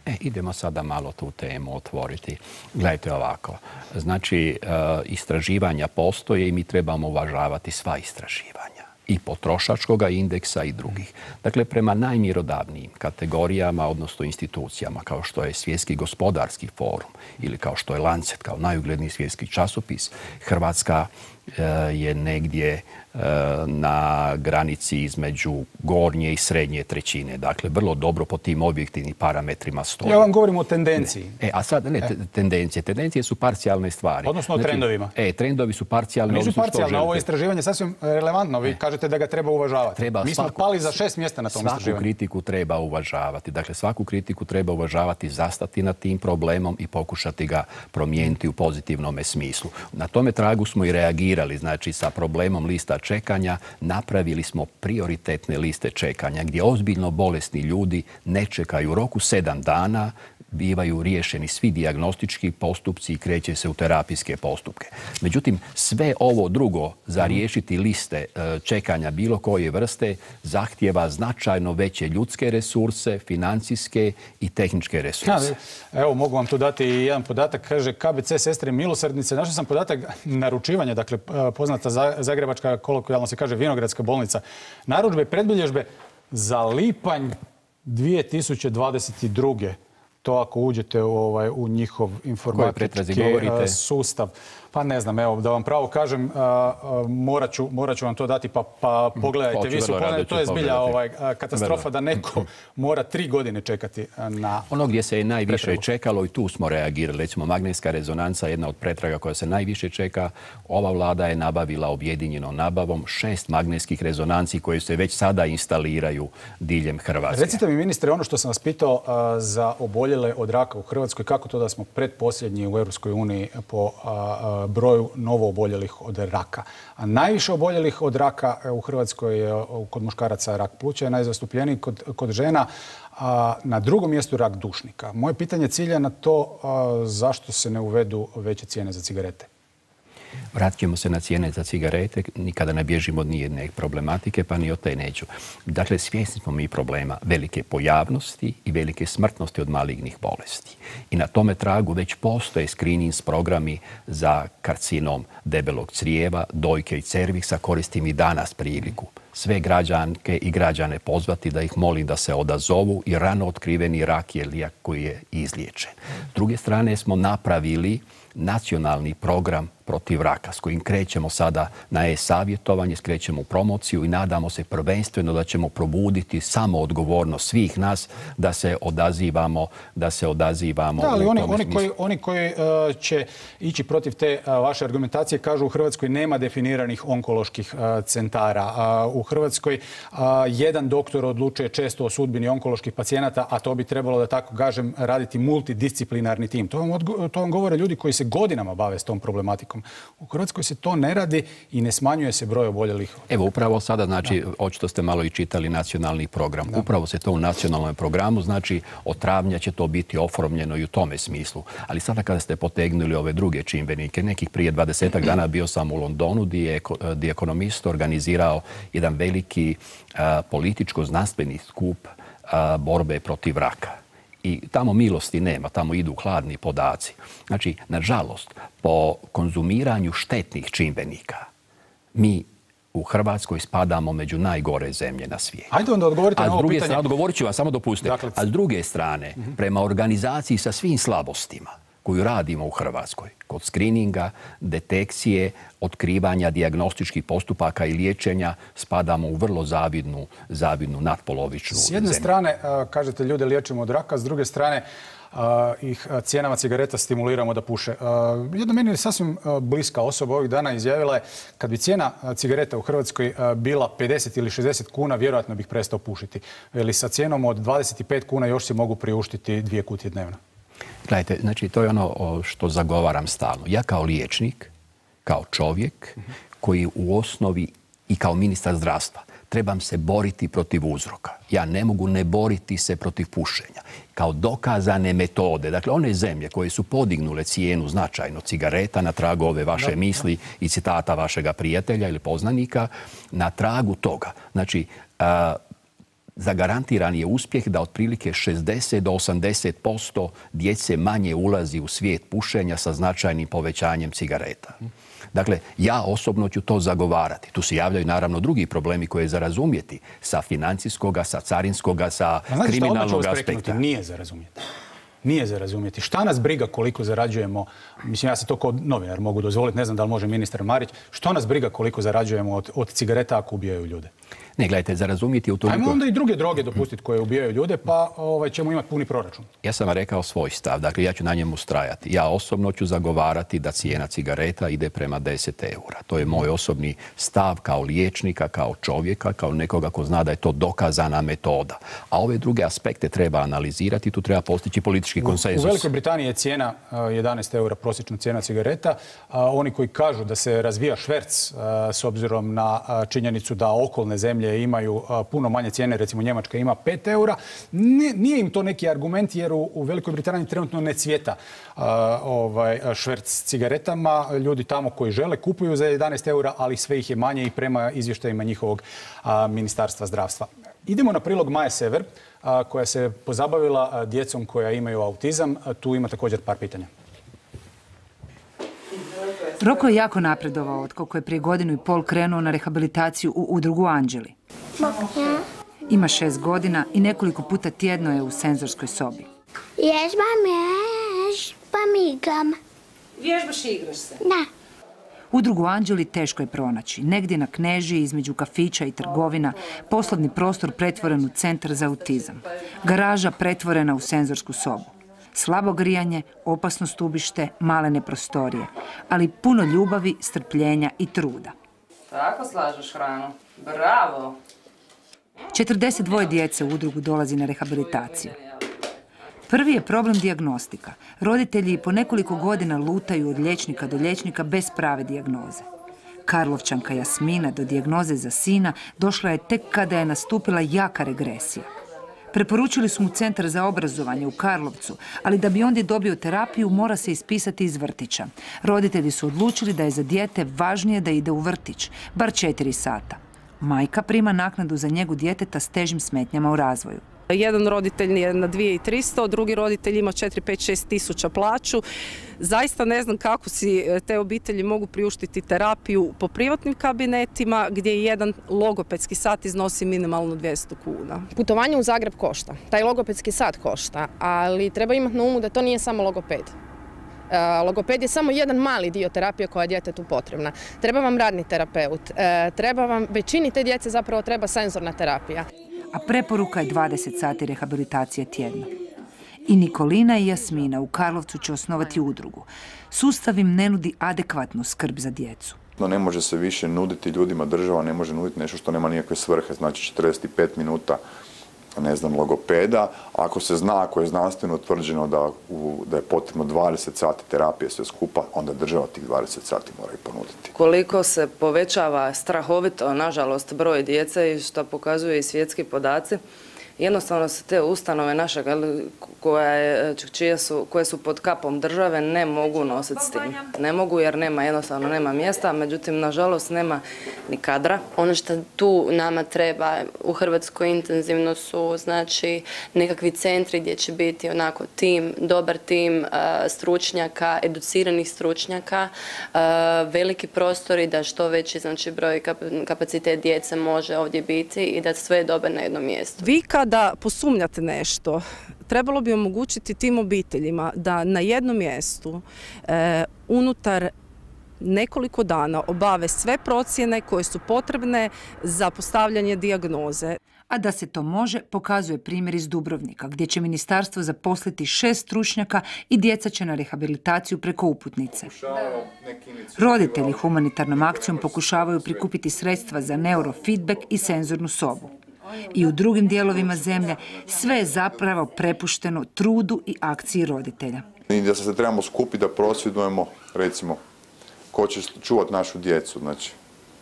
E, idemo sada malo tu temu otvoriti. Gledajte ovako. Znači, e, istraživanja postoje i mi trebamo uvažavati sva istraživanja. I potrošačkog indeksa i drugih. Dakle, prema najmjerodavnijim kategorijama, odnosno institucijama, kao što je Svjetski gospodarski forum ili kao što je Lancet, kao najugledniji svjetski časopis, Hrvatska e, je negdje na granici između gornje i srednje trećine. Dakle, vrlo dobro po tim objektivnim parametrima stoji. Ja vam govorim o tendenciji. Ne. E, a sad, ne, tendencije. Tendencije su parcijalne stvari. Odnosno o trendovima. E, trendovi su parcijalni. Nisu parcijalne, ovo istraživanje je sasvim relevantno. Vi kažete da ga treba uvažavati. Treba Mi smo svaku, pali za šest mjesta na tom svaku istraživanju. Svaku kritiku treba uvažavati. Dakle, svaku kritiku treba uvažavati, zastati na tim problemom i pokušati ga promijeniti u pozitivnom smislu. Na tome tragu smo i reagirali, znači sa problemom lista čekanja napravili smo prioritetne liste čekanja gdje ozbiljno bolesni ljudi ne čekaju u roku sedam dana, bivaju riješeni svi dijagnostički postupci i kreće se u terapijske postupke. Međutim, sve ovo drugo za riješiti liste čekanja bilo koje vrste zahtjeva značajno veće ljudske resurse, financijske i tehničke resurse. Ja, evo, mogu vam tu dati jedan podatak. Kaže ka be ce Sestre milosrdnice. Našao sam podatak naručivanja, dakle poznata zagrebačka, kolokvijalno se kaže, Vinogradska bolnica. Narudžbe i predbilježbe za lipanj dvije tisuće dvadeset druge. To ako uđete u, ovaj, u njihov informatički sustav, pa ne znam, evo, da vam pravo kažem, morat ću, morat ću vam to dati, pa, pa pogledajte. Vi su pogledajte, to je zbilja ovaj, katastrofa da neko mora tri godine čekati na... Ono gdje se je najviše pretragu. čekalo i tu smo reagirali. Recimo, magnetska rezonanca, jedna od pretraga koja se najviše čeka. Ova vlada je nabavila objedinjenom nabavom šest magnetskih rezonanci koje se već sada instaliraju diljem Hrvatske. Recite mi, ministre, ono što sam vas pitao a, za oboljele od raka u Hrvatskoj, kako to da smo predposljednji u Europskoj uniji po a, a, broju novo oboljelih od raka? A najviše oboljelih od raka u Hrvatskoj je kod muškaraca rak pluća, je najzastupljeniji kod, kod žena, a na drugom mjestu rak dušnika. Moje pitanje cilja na to a, zašto se ne uvedu veće cijene za cigarete? Vratit ćemo se na cijene za cigarete, nikada ne bježimo od nijedne problematike, pa ni od te neću. Dakle, svjesni smo mi problema velike pojavnosti i velike smrtnosti od malignih bolesti. I na tome tragu već postoje screening programi za karcinom debelog crijeva, dojke i cerviksa. Koristim i danas priliku sve građanke i građane pozvati da ih molim da se odazovu i rano otkriveni rak je lijek koji je izliječen. S druge strane smo napravili nacionalni program protiv raka s kojim krećemo sada na e-savjetovanje, skrećemo u promociju i nadamo se prvenstveno da ćemo probuditi samo odgovornost svih nas da se odazivamo, da se odazivamo. Da, ali oni, oni koji, oni koji uh, će ići protiv te uh, vaše argumentacije kažu u Hrvatskoj nema definiranih onkoloških uh, centara. Uh, u Hrvatskoj uh, jedan doktor odlučuje često o sudbini onkoloških pacijenata, a to bi trebalo, da tako kažem, raditi multidisciplinarni tim. To vam, odgo to vam govore ljudi koji se godinama bave s tom problematikom. U Hrvatskoj se to ne radi i ne smanjuje se broj oboljelih. Evo, upravo sada, znači, da. Očito ste malo i čitali nacionalni program. Da. Upravo se to u nacionalnom programu, znači, od travnja će to biti oformljeno i u tome smislu. Ali sada kada ste potegnuli ove druge čimbenike, nekih prije dvadesetak dana bio sam u Londonu gdje je gdje ekonomist organizirao jedan veliki a, političko-znanstveni skup a, borbe protiv raka. I tamo milosti nema, tamo idu hladni podaci. Znači, nažalost, po konzumiranju štetnih čimbenika, mi u Hrvatskoj spadamo među najgore zemlje na svijetu. Ajde onda odgovorite na ovo druge pitanje. Strane, odgovorit ću vam, samo dopustite. Dakle, a s druge strane, uh-huh. prema organizaciji sa svim slabostima koju radimo u Hrvatskoj, kod skrininga, detekcije, otkrivanja dijagnostičkih postupaka i liječenja, spadamo u vrlo zavidnu, zavidnu nadpolovičnu zemlju. S jedne strane, kažete, ljude liječimo od raka, s druge strane, ih cijenama cigareta stimuliramo da puše. Jedna meni je sasvim bliska osoba ovih dana izjavila je kad bi cijena cigareta u Hrvatskoj bila pedeset ili šezdeset kuna, vjerojatno bih prestao pušiti. Ili sa cijenom od dvadeset pet kuna još si mogu priuštiti dvije kutije dnevno. Gledajte, znači to je ono što zagovaram stalno. Ja kao liječnik, kao čovjek koji u osnovi i kao ministar zdravstva trebam se boriti protiv uzroka. Ja ne mogu ne boriti se protiv pušenja. Kao dokazane metode, dakle one zemlje koje su podignule cijenu značajno cigareta na tragu ove vaše misli i citata vašega prijatelja ili poznanika, na tragu toga. Znači, a, zagarantiran je uspjeh da otprilike šezdeset do osamdeset posto djece manje ulazi u svijet pušenja sa značajnim povećanjem cigareta. Dakle, ja osobno ću to zagovarati. Tu se javljaju naravno drugi problemi koje je za razumjeti sa financijskoga, sa carinskoga, sa znači, kriminalnog aspekta. Nije za razumjeti. Nije za razumjeti. Šta nas briga koliko zarađujemo, mislim ja se to kao novinar mogu dozvoliti, ne znam da li može ministar Marić, što nas briga koliko zarađujemo od, od cigareta ako ubijaju ljude? Ne, gledajte, za razumjeti u toliko... Ajmo onda i druge droge dopustiti koje ubijaju ljude, pa ovaj, ćemo imati puni proračun. Ja sam vam rekao svoj stav, dakle ja ću na njemu strajati. Ja osobno ću zagovarati da cijena cigareta ide prema deset eura. To je moj osobni stav kao liječnika, kao čovjeka, kao nekoga ko zna da je to dokazana metoda. A ove druge aspekte treba analizirati, tu treba postići politički konsenzus. U Velikoj Britaniji je cijena jedanaest eura prosječna cijena cigareta. Oni koji kažu da se razvija šverc s obzirom na činjenicu da okolne zemlje imaju puno manje cijene, recimo Njemačka ima pet eura. Nije im to neki argument jer u Velikoj Britaniji trenutno ne cvjeta ovaj, šverc cigaretama. Ljudi tamo koji žele kupuju za jedanaest eura, ali sve ih je manje i prema izvještajima njihovog ministarstva zdravstva. Idemo na prilog Maje Sever, koja se pozabavila djecom koja imaju autizam. Tu ima također par pitanja. Roko je jako napredovao od kako je prije godinu i pol krenuo na rehabilitaciju u udrugu Anđeli. Ima šest godina i nekoliko puta tjedno je u senzorskoj sobi. Vježbam, vježbam, igram. Vježbaš i igraš se? Da. Udrugu Anđeli teško je pronaći. Negdje na Knežiji, između kafića i trgovina, poslovni prostor pretvoren u centar za autizam. Garaža pretvorena u senzorsku sobu. Slabo grijanje, opasno stubište, malene prostorije, ali puno ljubavi, strpljenja i truda. Tako slažeš hranu. Bravo! četrdeset dvoje djece u udrugu dolazi na rehabilitaciju. Prvi je problem dijagnostika. Roditelji po nekoliko godina lutaju od liječnika do liječnika bez prave dijagnoze. Karlovčanka Jasmina do dijagnoze za sina došla je tek kada je nastupila jaka regresija. Preporučili su mu centar za obrazovanje u Karlovcu, ali da bi ondje dobio terapiju mora se ispisati iz vrtića. Roditelji su odlučili da je za dijete važnije da ide u vrtić, bar četiri sata. Majka prima naknadu za njegu djeteta s težim smetnjama u razvoju. Jedan roditelj je na dvije tisuće tristo, drugi roditelj ima četiri, pet, šest tisuća plaću. Zaista ne znam kako si te obitelji mogu priuštiti terapiju po privatnim kabinetima gdje jedan logopedski sat iznosi minimalno dvjesto kuna. Putovanje u Zagreb košta, taj logopedski sat košta, ali treba imati na umu da to nije samo logoped. Logoped je samo jedan mali dio terapije koja je djetetu potrebna. Treba vam radni terapeut, treba vam, većini te djece zapravo treba senzorna terapija. A preporuka je dvadeset sati rehabilitacije tjedno. I Nikolina i Jasmina u Karlovcu će osnovati udrugu. Sustav im ne nudi adekvatnu skrb za djecu. Ne može se više nuditi ljudima, država ne može nuditi nešto što nema nikakve svrhe, znači četrdeset pet minuta ne znam, logopeda. Ako se zna, ako je znanstveno utvrđeno da, u, da je potrebno dvadeset sati terapije sve skupa, onda država tih dvadeset sati mora i ponuditi. Koliko se povećava strahovito, nažalost, broj djece i što pokazuju i svjetski podaci, jednostavno se te ustanove naše koje, čije su, koje su pod kapom države ne mogu nositi s tim. Ne mogu jer nema, jednostavno nema mjesta, međutim, nažalost, nema ni kadra. Ono što tu nama treba u Hrvatskoj intenzivno su znači nekakvi centri gdje će biti onako tim, dobar tim stručnjaka, educiranih stručnjaka, veliki prostori da što veći znači broj kapacitet djece može ovdje biti i da sve je dobar na jednom mjestu. Vi kada posumnjate nešto, trebalo bi omogućiti tim obiteljima da na jednom mjestu e, unutar nekoliko dana obave sve procjene koje su potrebne za postavljanje dijagnoze. A da se to može, pokazuje primjer iz Dubrovnika, gdje će ministarstvo zaposliti šest stručnjaka i djeca će na rehabilitaciju preko uputnice. Roditelji humanitarnom akcijom pokušavaju prikupiti sredstva za neurofeedback i senzornu sobu. I u drugim dijelovima zemlje sve je zapravo prepušteno trudu i akciji roditelja. I da se trebamo skupiti da prosvjedujemo, recimo, ko će čuvati našu djecu. Znači,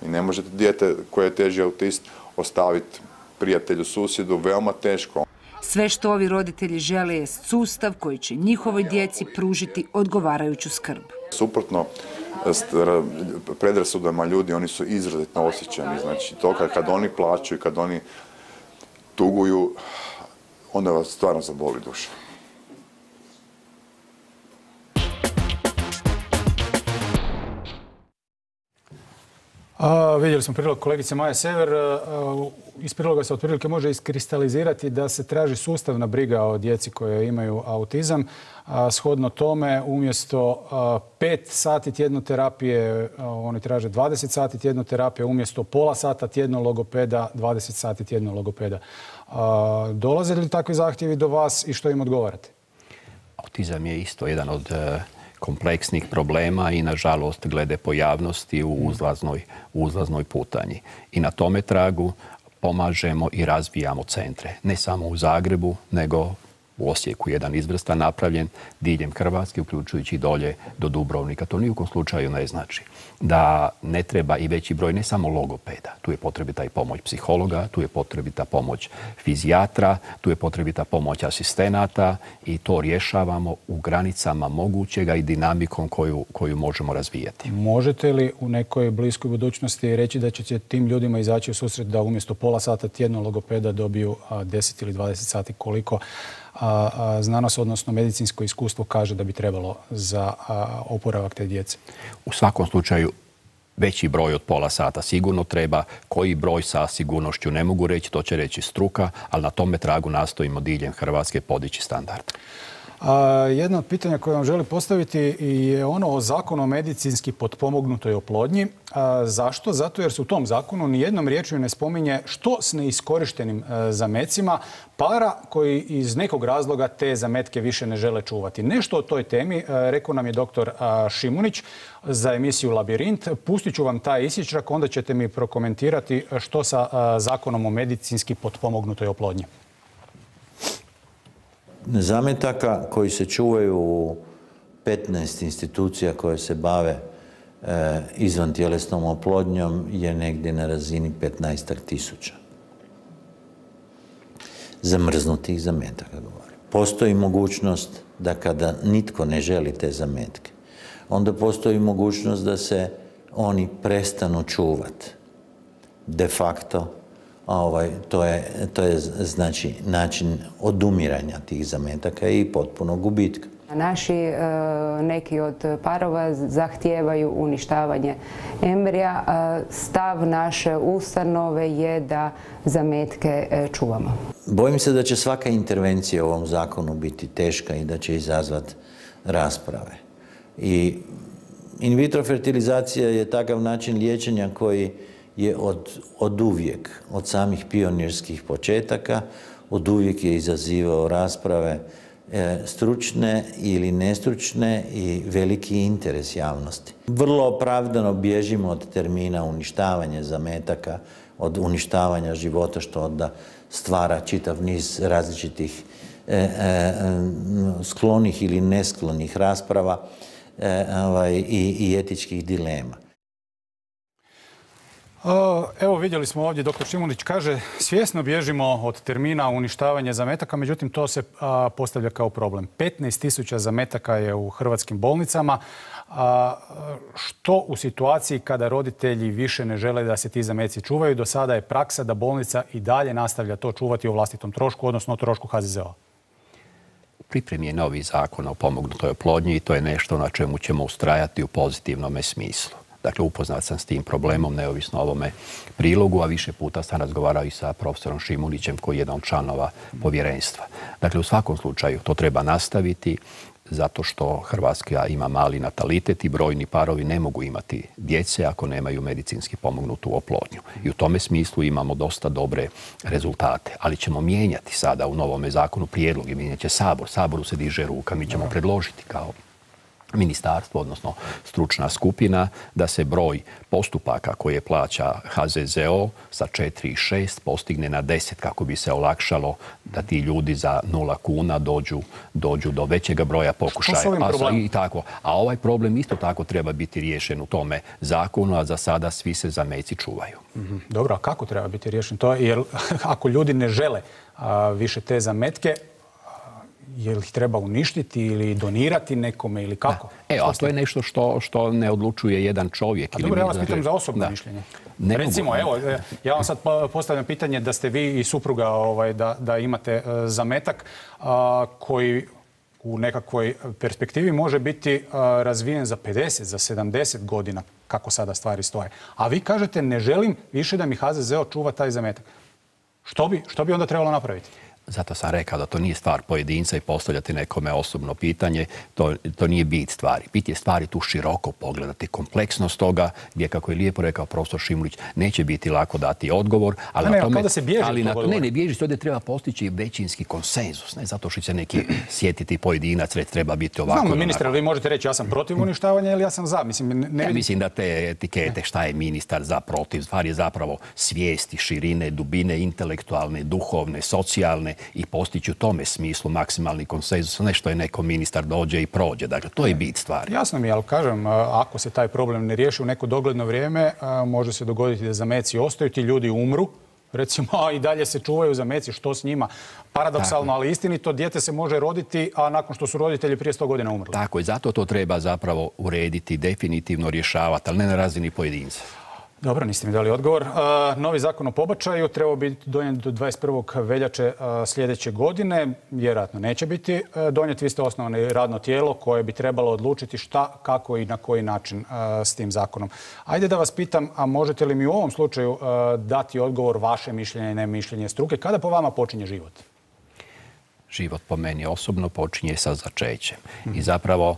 i ne možete dijete koje je teži autist ostaviti prijatelju, susjedu, veoma teško. Sve što ovi roditelji žele je sustav koji će njihovoj djeci pružiti odgovarajuću skrb. Suprotno predrasudama ljudi, oni su izrazito osjećani. Znači, to kad, kad oni plaću i kad oni tuguju, onda vas stvarno zaboli duša. A, vidjeli smo prilog kolegice Maje Sever. A, iz priloga se otprilike može iskristalizirati da se traži sustavna briga o djeci koje imaju autizam. A, shodno tome, umjesto a, pet sati tjedno terapije, a, oni traže dvadeset sati tjedno terapije, umjesto pola sata tjedno logopeda, dvadeset sati tjedno logopeda. A, dolaze li takvi zahtjevi do vas i što im odgovarate? Autizam je isto jedan od kompleksnih problema i, nažalost, glede pojavnosti u uzlaznoj, uzlaznoj putanji. I na tome tragu pomažemo i razvijamo centre. Ne samo u Zagrebu, nego u Osijeku jedan izvrstan napravljen diljem Hrvatske, uključujući i dolje do Dubrovnika. To nijukom slučaju ne znači da ne treba i veći broj ne samo logopeda. Tu je potrebita i pomoć psihologa, tu je potrebita pomoć fizijatra, tu je potrebita pomoć asistenata i to rješavamo u granicama mogućega i dinamikom koju, koju možemo razvijati. Možete li u nekoj bliskoj budućnosti reći da ćete tim ljudima izaći u susret da umjesto pola sata tjedno logopeda dobiju deset ili dvadeset sati, koliko a, a, znanost, odnosno medicinsko iskustvo kaže da bi trebalo za a, oporavak te djece? U svakom slučaju veći broj od pola sata sigurno treba. Koji broj sa sigurnošću ne mogu reći, to će reći struka, ali na tome tragu nastojimo diljem Hrvatske podići standard. Jedno od pitanja koje vam želim postaviti je ono o zakonu o medicinski potpomognutoj oplodnji. Zašto? Zato jer se u tom zakonu nijednom riječju ne spominje što s neiskorištenim zamecima para koji iz nekog razloga te zametke više ne žele čuvati. Nešto o toj temi rekao nam je doktor Šimunić za emisiju Labirint. Pustit ću vam taj isječak, onda ćete mi prokomentirati što sa zakonom o medicinski potpomognutoj oplodnji. Zametaka koji se čuvaju u petnaest institucija koje se bave e, izvantjelesnom oplodnjom je negdje na razini petnaestak tisuća. Zamrznutih zametaka govorim. Postoji mogućnost da kada nitko ne želi te zametke, onda postoji mogućnost da se oni prestanu čuvati. De facto, Ovaj, to je, to je znači način odumiranja tih zametaka i potpunog gubitka. Naši e, neki od parova zahtijevaju uništavanje embrija. E, stav naše ustanove je da zametke e, čuvamo. Bojim se da će svaka intervencija u ovom zakonu biti teška i da će izazvati rasprave. I in vitro fertilizacija je takav način liječenja koji je od, od uvijek, od samih pionirskih početaka, od uvijek je izazivao rasprave e, stručne ili nestručne i veliki interes javnosti. Vrlo opravdano bježimo od termina uništavanje zametaka, od uništavanja života, što onda stvara čitav niz različitih e, e, sklonih ili nesklonih rasprava e, ovaj, i, i etičkih dilema. Evo, vidjeli smo ovdje, doktor Šimunić kaže, svjesno bježimo od termina uništavanje zametaka, međutim to se a, postavlja kao problem. petnaest tisuća zametaka je u hrvatskim bolnicama. A, što u situaciji kada roditelji više ne žele da se ti zameci čuvaju? Do sada je praksa da bolnica i dalje nastavlja to čuvati o vlastitom trošku, odnosno o trošku H Z Z O-a. Pripremi je novi zakon o pomognutoj oplodnji i to je nešto na čemu ćemo ustrajati u pozitivnom smislu. Dakle, upoznat sam s tim problemom, neovisno o ovome prilogu, a više puta sam razgovarao i sa profesorom Šimunićem, koji je jedan od članova povjerenstva. Dakle, u svakom slučaju to treba nastaviti, zato što Hrvatska ima mali natalitet i brojni parovi ne mogu imati djece ako nemaju medicinski pomognutu oplodnju. I u tome smislu imamo dosta dobre rezultate. Ali ćemo mijenjati sada u novome zakonu prijedlog i mijenjat će Sabor. Saboru se diže ruka, mi ćemo predložiti kao ministarstvo, odnosno stručna skupina, da se broj postupaka koje plaća H Z Z O sa četiri i šest postigne na deset kako bi se olakšalo da ti ljudi za nula kuna dođu, dođu do većega broja pokušaja. A, i tako. A ovaj problem isto tako treba biti riješen u tome zakonu, a za sada svi se zameci čuvaju. Mm-hmm. Dobro, a kako treba biti riješen to? Jer ako ljudi ne žele a, više te zametke, je li ih treba uništiti ili donirati nekome ili kako? E, a to je nešto što, što ne odlučuje jedan čovjek. A dobro, ja vas pitam za osobno da. mišljenje. Ne Recimo, mogu. evo, ja vam sad postavljam pitanje da ste vi i supruga ovaj, da, da imate uh, zametak uh, koji u nekakvoj perspektivi može biti uh, razvijen za pedeset, za sedamdeset godina, kako sada stvari stoje. A vi kažete, ne želim više da mi H Z Z O čuva taj zametak. Što bi, što bi onda trebalo napraviti? Zato sam rekao da to nije stvar pojedinca i postavljati nekome osobno pitanje. To, to nije bit stvari. Bit je stvari tu široko pogledati kompleksnost toga, gdje, kako je lijepo rekao profesor Šimunić, neće biti lako dati odgovor. Ali ne, na tome, da se bježi ali na, ne, ne, bježi se, ovdje treba postići većinski konsenzus. Ne zato što će neki sjetiti pojedinac, reći treba biti ovako. Znamo, ministre, vi možete reći ja sam protiv uništavanja ili ja sam za. Mislim, ne, ne... Ja mislim da te etikete, šta je ministar za, protiv, stvar je zapravo svijesti, širine, dubine, intelektualne, duhovne, socijalne, i postići u tome smislu maksimalni konsenzus, nešto je neko ministar dođe i prođe. Dakle, to je bit stvari. Jasno mi je, ali kažem, ako se taj problem ne riješi u neko dogledno vrijeme, može se dogoditi da zameci ostaju, ti ljudi umru, recimo, a i dalje se čuvaju zameci, što s njima? Paradoksalno, ali istinito, dijete se može roditi, a nakon što su roditelji prije sto godina umrli. Tako je, zato to treba zapravo urediti, definitivno rješavati, ali ne na razini pojedinca. Dobro, niste mi dali odgovor. Novi zakon o pobačaju trebao biti donijet do dvadeset prvog veljače sljedeće godine. Vjerojatno neće biti donijet. Vi ste osnovano radno tijelo koje bi trebalo odlučiti šta, kako i na koji način s tim zakonom. Ajde da vas pitam, a možete li mi u ovom slučaju dati odgovor vaše mišljenje i ne mišljenje struke? Kada po vama počinje život? život po meni osobno počinje sa začećem. I zapravo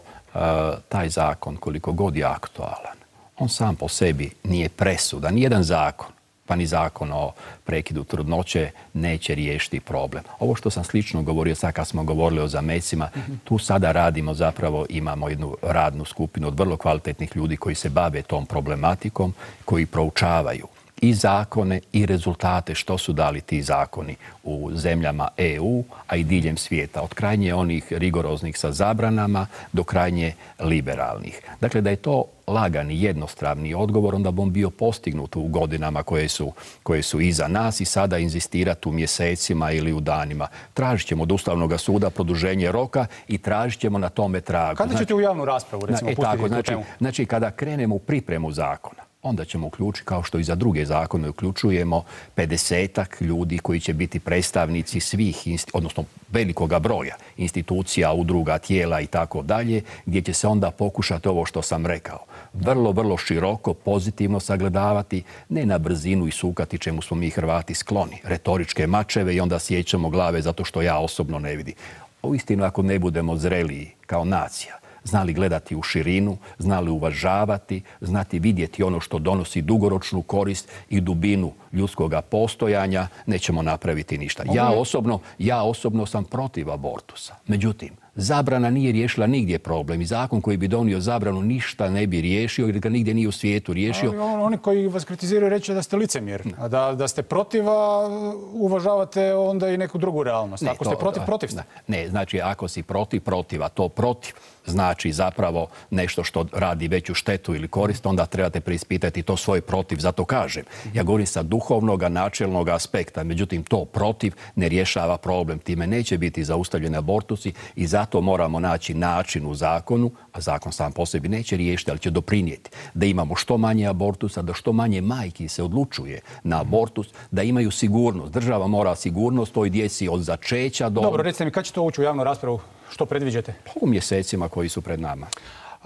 taj zakon, koliko god je aktualan, on sam po sebi nije presudan. Nijedan zakon, pa ni zakon o prekidu trudnoće neće riješiti problem. Ovo što sam slično govorio sad kad smo govorili o zamecima, tu sada radimo zapravo, imamo jednu radnu skupinu od vrlo kvalitetnih ljudi koji se bave tom problematikom, koji proučavaju i zakone i rezultate što su dali ti zakoni u zemljama E U, a i diljem svijeta. Od krajnje onih rigoroznih sa zabranama do krajnje liberalnih. Dakle, da je to lagani, jednostavni odgovor, onda bi on bio postignut u godinama koje su, koje su iza nas i sada inzistirati u mjesecima ili u danima. Tražit ćemo od Ustavnog suda produženje roka i tražit ćemo na tome tragu. Kada ćete znači, u javnu raspravu, recimo, e, pustiti tako, tu znači, temu? Znači, kada krenemo u pripremu zakona, onda ćemo uključiti, kao što i za druge zakone uključujemo, pedesetak ljudi koji će biti predstavnici svih, odnosno velikoga broja institucija, udruga, tijela i tako dalje, gdje će se onda pokušati ovo što sam rekao. Vrlo, vrlo široko, pozitivno sagledavati, ne na brzinu i sukati čemu smo mi Hrvati skloni. Retoričke mačeve i onda sjećamo glave zato što ja osobno ne vidim. Uistinu, ako ne budemo zreliji kao nacija, znali gledati u širinu, znali uvažavati, znati vidjeti ono što donosi dugoročnu korist i dubinu ljudskoga postojanja, nećemo napraviti ništa. Ja osobno, ja osobno sam protiv abortusa. Međutim, zabrana nije riješila nigdje problem i zakon koji bi donio zabranu ništa ne bi riješio jer ga nigdje nije u svijetu riješio. Ali oni koji vas kritiziraju reći da ste licemjer, a da, da ste protiv, a uvažavate onda i neku drugu realnost. Ne, ako to, ste protiv, protiv ste. Ne, znači ako si protiv, protiv, a to protiv znači zapravo nešto što radi veću štetu ili korist, onda trebate preispitati to svoj protiv. Zato kažem, ja govorim sa duhovnog, načelnog aspekta, međutim to protiv ne rješava problem. Time neće biti zaustavljeni abortusi i zato moramo naći način u zakonu, a zakon sam po sebi neće riješiti, ali će doprinijeti da imamo što manje abortusa, da što manje majki se odlučuje na abortus, da imaju sigurnost. Država mora sigurnost toj djeci od začeća do... Dobro, recite mi, kad će to ući u javnu raspravu? Što predviđate? U mjesecima koji su pred nama.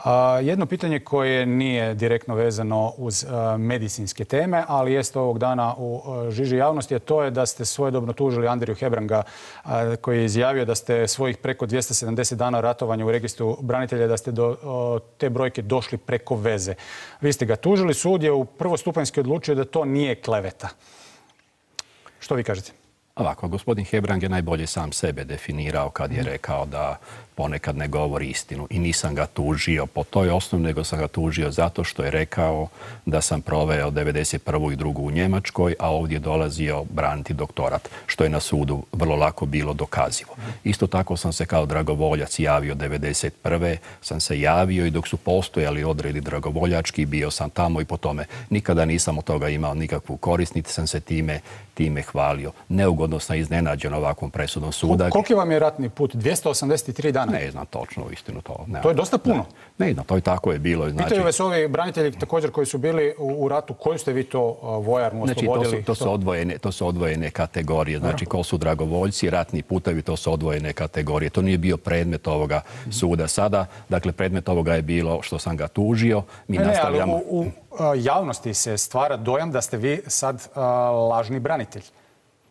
A, jedno pitanje koje nije direktno vezano uz a, medicinske teme, ali jest ovog dana u a, žiži javnosti, a to je da ste svojedobno tužili Andriju Hebranga, a, koji je izjavio da ste svojih preko dvjesto sedamdeset dana ratovanja u registru branitelja, da ste do o, te brojke došli preko veze. Vi ste ga tužili, sud je u prvostupanjski odlučio da to nije kleveta. Što vi kažete? Ovako, gospodin Hebrang je najbolje sam sebe definirao kad je rekao da ponekad ne govori istinu i nisam ga tužio po toj osnovi, nego sam ga tužio zato što je rekao da sam proveo devedeset prvu i drugu u Njemačkoj, a ovdje dolazio braniti doktorat, što je na sudu vrlo lako bilo dokazivo. Isto tako sam se kao dragovoljac javio devedeset prve sam se javio i dok su postojali odredi dragovoljački, bio sam tamo i po tome nikada nisam od toga imao nikakvu korist, niti sam se time, time hvalio. Neugodno sam iznenađen ovakvom presudom suda. Koliki vam je ratni put? dvjesto osamdeset tri dana? Ne znam točno, uistinu to. Ne, to je dosta puno. Ne, ne znam, to i tako je bilo. Znači, pitaju vas ovi branitelji također koji su bili u, u ratu, koju ste vi to vojarnu oslobodili? Znači, to su, to su, odvojene, to su odvojene kategorije. Znači, ko su dragovoljci, ratni putevi, to su odvojene kategorije. To nije bio predmet ovoga suda sada. Dakle, predmet ovoga je bilo što sam ga tužio. Mi ne, nastavljamo... ne, ali u, u javnosti se stvara dojam da ste vi sad a, lažni branitelj.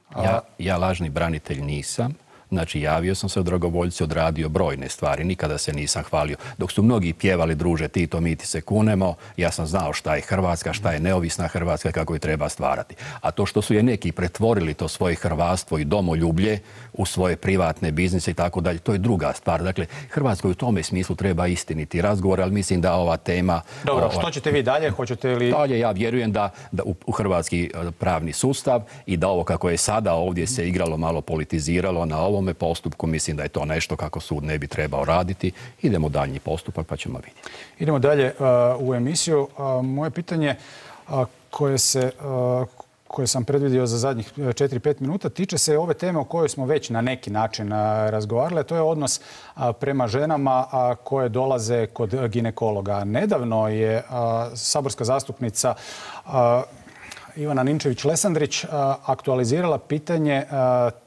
A... Ja, ja lažni branitelj nisam. Znači, javio sam se u dragovoljci, odradio brojne stvari, nikada se nisam hvalio. Dok su mnogi pjevali, druže, Tito, mi ti se kunemo, ja sam znao šta je Hrvatska, šta je neovisna Hrvatska, kako je treba stvarati. A to što su je neki pretvorili to svoje hrvatstvo i domoljublje u svoje privatne biznise i tako dalje, to je druga stvar. Dakle, Hrvatskoj u tome smislu treba istiniti razgovor, ali mislim da ova tema... Dobro, ova... što ćete vi dalje? Hoćete li... Dalje, ja vjerujem da, da u, u hrvatski pravni sustav i da ovo kako je sada ovdje se igralo, malo politiziralo na ovo postupku, mislim da je to nešto kako sud ne bi trebao raditi. Idemo daljnji postupak pa ćemo vidjeti. Idemo dalje uh, u emisiju. Uh, moje pitanje uh, koje, se, uh, koje sam predvidio za zadnjih četiri pet minuta tiče se ove teme o kojoj smo već na neki način uh, razgovarali. To je odnos uh, prema ženama uh, koje dolaze kod ginekologa. Nedavno je uh, saborska zastupnica uh, Ivana Ninčević-Lesandrić uh, aktualizirala pitanje uh,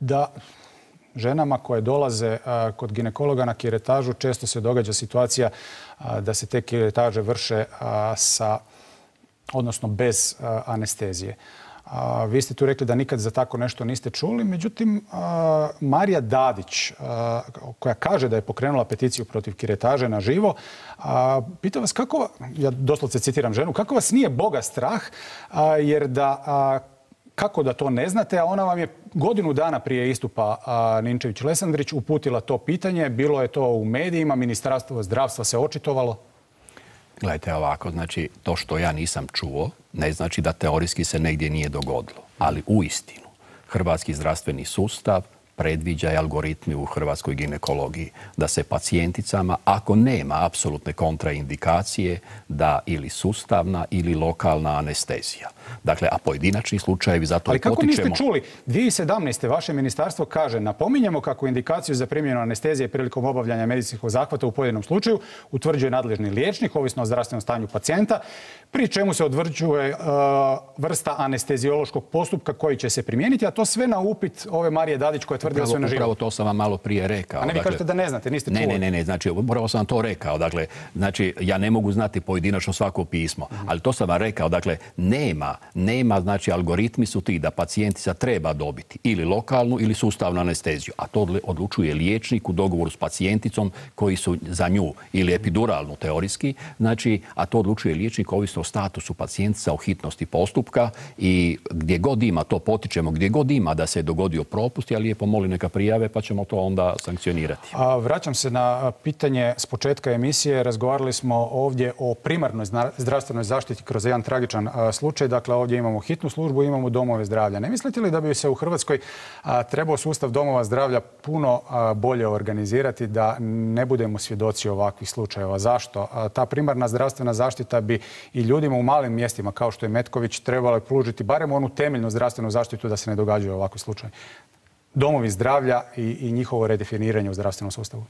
da ženama koje dolaze a, kod ginekologa na kiretažu često se događa situacija a, da se te kiretaže vrše a, sa, odnosno bez a, anestezije. A, vi ste tu rekli da nikad za tako nešto niste čuli. Međutim, a, Marija Dadić, a, koja kaže da je pokrenula peticiju protiv kiretaže na živo, a, pita vas kako, ja doslovce citiram ženu, kako vas nije Boga strah, a, jer da... A, kako da to ne znate, a ona vam je godinu dana prije istupa Ninčević-Lesandrić uputila to pitanje. Bilo je to u medijima, Ministarstvo zdravstva se očitovalo. Gledajte ovako, znači to što ja nisam čuo ne znači da teorijski se negdje nije dogodilo. Ali uistinu, hrvatski zdravstveni sustav predviđa i algoritmi u hrvatskoj ginekologiji da se pacijenticama, ako nema apsolutne kontraindikacije, da ili sustavna ili lokalna anestezija. Dakle, a pojedinačni slučajevi zato i potičemo... Ali kako niste čuli? dvije tisuće sedamnaeste. vaše ministarstvo kaže: napominjemo kako indikaciju za primjenu anestezije prilikom obavljanja medicinskog zahvata u pojedinom slučaju utvrđuje nadležni liječnik, ovisno o zdravstvenom stanju pacijenta, pri čemu se utvrđuje uh, vrsta anesteziološkog postupka koji će se primijeniti, a to sve na upit ove Marije Dadić koja tvrdila sve na živo. Upravo to sam vam malo prije rekao. A ne, vi kažete da ne znate, niste čuli. Ne, ne, ne, znači upravo sam to rekao. Dakle, znači ja ne mogu znati pojedinačno svako pismo, ali to sam vam rekao. Dakle, nema, nema, znači algoritmi su ti da pacijentica treba dobiti ili lokalnu ili sustavnu anesteziju, a to odlučuje liječnik u dogovoru s pacijenticom koji su za nju ili epiduralnu teorijski, znači, a to odlučuje liječnik ovisno o statusu pacijentica, o hitnosti postupka i gdje god ima to potičemo, gdje god ima da se je dogodio propust, ja lijepo molim neka prijave pa ćemo to onda sankcionirati. A, vraćam se na pitanje s početka emisije. Razgovarali smo ovdje o primarnoj zdravstvenoj zaštiti kroz jedan tragičan a, slučaj. Dakle, ovdje imamo hitnu službu, imamo domove zdravlja. Ne mislite li da bi se u Hrvatskoj a, trebao sustav domova zdravlja puno a, bolje organizirati da ne budemo svjedoci ovakvih slučajeva? Zašto? A, ta primarna zdravstvena zaštita bi i ljudima u malim mjestima kao što je Metković trebalo pružiti barem onu temeljnu zdravstvenu zaštitu da se ne događaju ovakvi slučajevi. Domovi zdravlja i, i njihovo redefiniranje u zdravstvenom sustavu.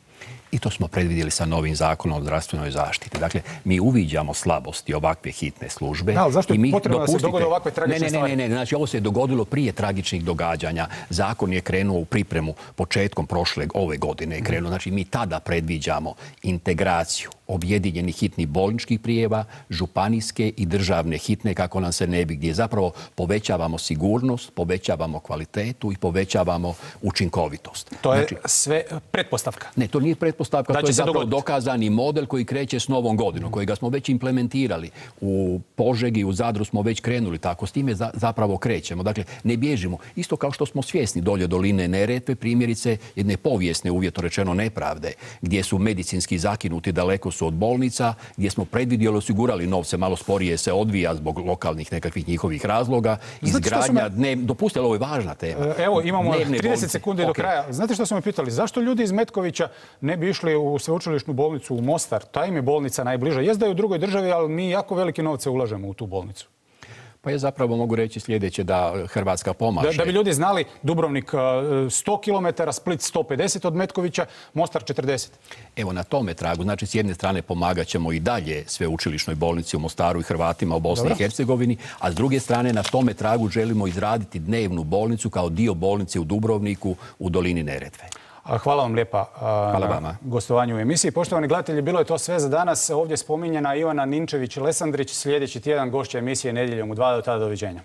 I to smo predvidjeli sa novim zakonom o zdravstvenoj zaštiti. Dakle, mi uviđamo slabosti ovakve hitne službe. Da, ali zašto je mi, potrebno dopustite, da se dogode ovakve tragične ne, ne, stvari? Ne, ne, ne, znači ovo se dogodilo prije tragičnih događanja. Zakon je krenuo u pripremu početkom prošle ove godine je krenuo. Znači mi tada predviđamo integraciju objedinjenih hitnih bolničkih prijeva, županijske i državne hitne, kako nam se ne bi, gdje zapravo povećavamo sigurnost, povećavamo kvalitetu i povećavamo učinkovitost. To je znači, sve pretpostavka. Ne, to nije pretpostavka, da to je zapravo dogoditi. dokazani model koji kreće s novom godinom, kojega smo već implementirali. U Požegi, u Zadru smo već krenuli tako, s time za, zapravo krećemo. Dakle, ne bježimo. Isto kao što smo svjesni dolje doline Neretve, primjerice jedne povijesne, uvjetno rečeno, nepravde, gdje su medicinski zakinuti, daleko su od bolnica, gdje smo predvidjeli, osigurali novce, malo sporije se odvija zbog lokalnih nekakvih njihovih razloga. Izgradnja, me... dnev... dopustite, ovo je važna tema. Evo, imamo Dnevne trideset bolnice. sekundi do Okay. kraja. Znate što su me pitali? Zašto ljudi iz Metkovića ne bi išli u sveučilišnu bolnicu u Mostar? Ta im je bolnica najbliža. Jest da je u drugoj državi, ali mi jako velike novce ulažemo u tu bolnicu. Pa ja zapravo mogu reći sljedeće, da Hrvatska pomaže. Da, da bi ljudi znali, Dubrovnik sto kilometara, Split sto pedeset od Metkovića, Mostar četrdeset. Evo na tome tragu, znači s jedne strane pomagat ćemo i dalje sveučilišnoj bolnici u Mostaru i Hrvatima u Bosni i Hercegovini, a s druge strane na tome tragu želimo izraditi dnevnu bolnicu kao dio bolnice u Dubrovniku u dolini Neretve. Hvala vam lijepa Hvala na vama. gostovanju u emisiji. Poštovani gledatelji, bilo je to sve za danas. Ovdje spominjena Ivana Ninčević-Lesandrić. Sljedeći tjedan gošća emisije Nedjeljom u dva. Do tada, doviđenja.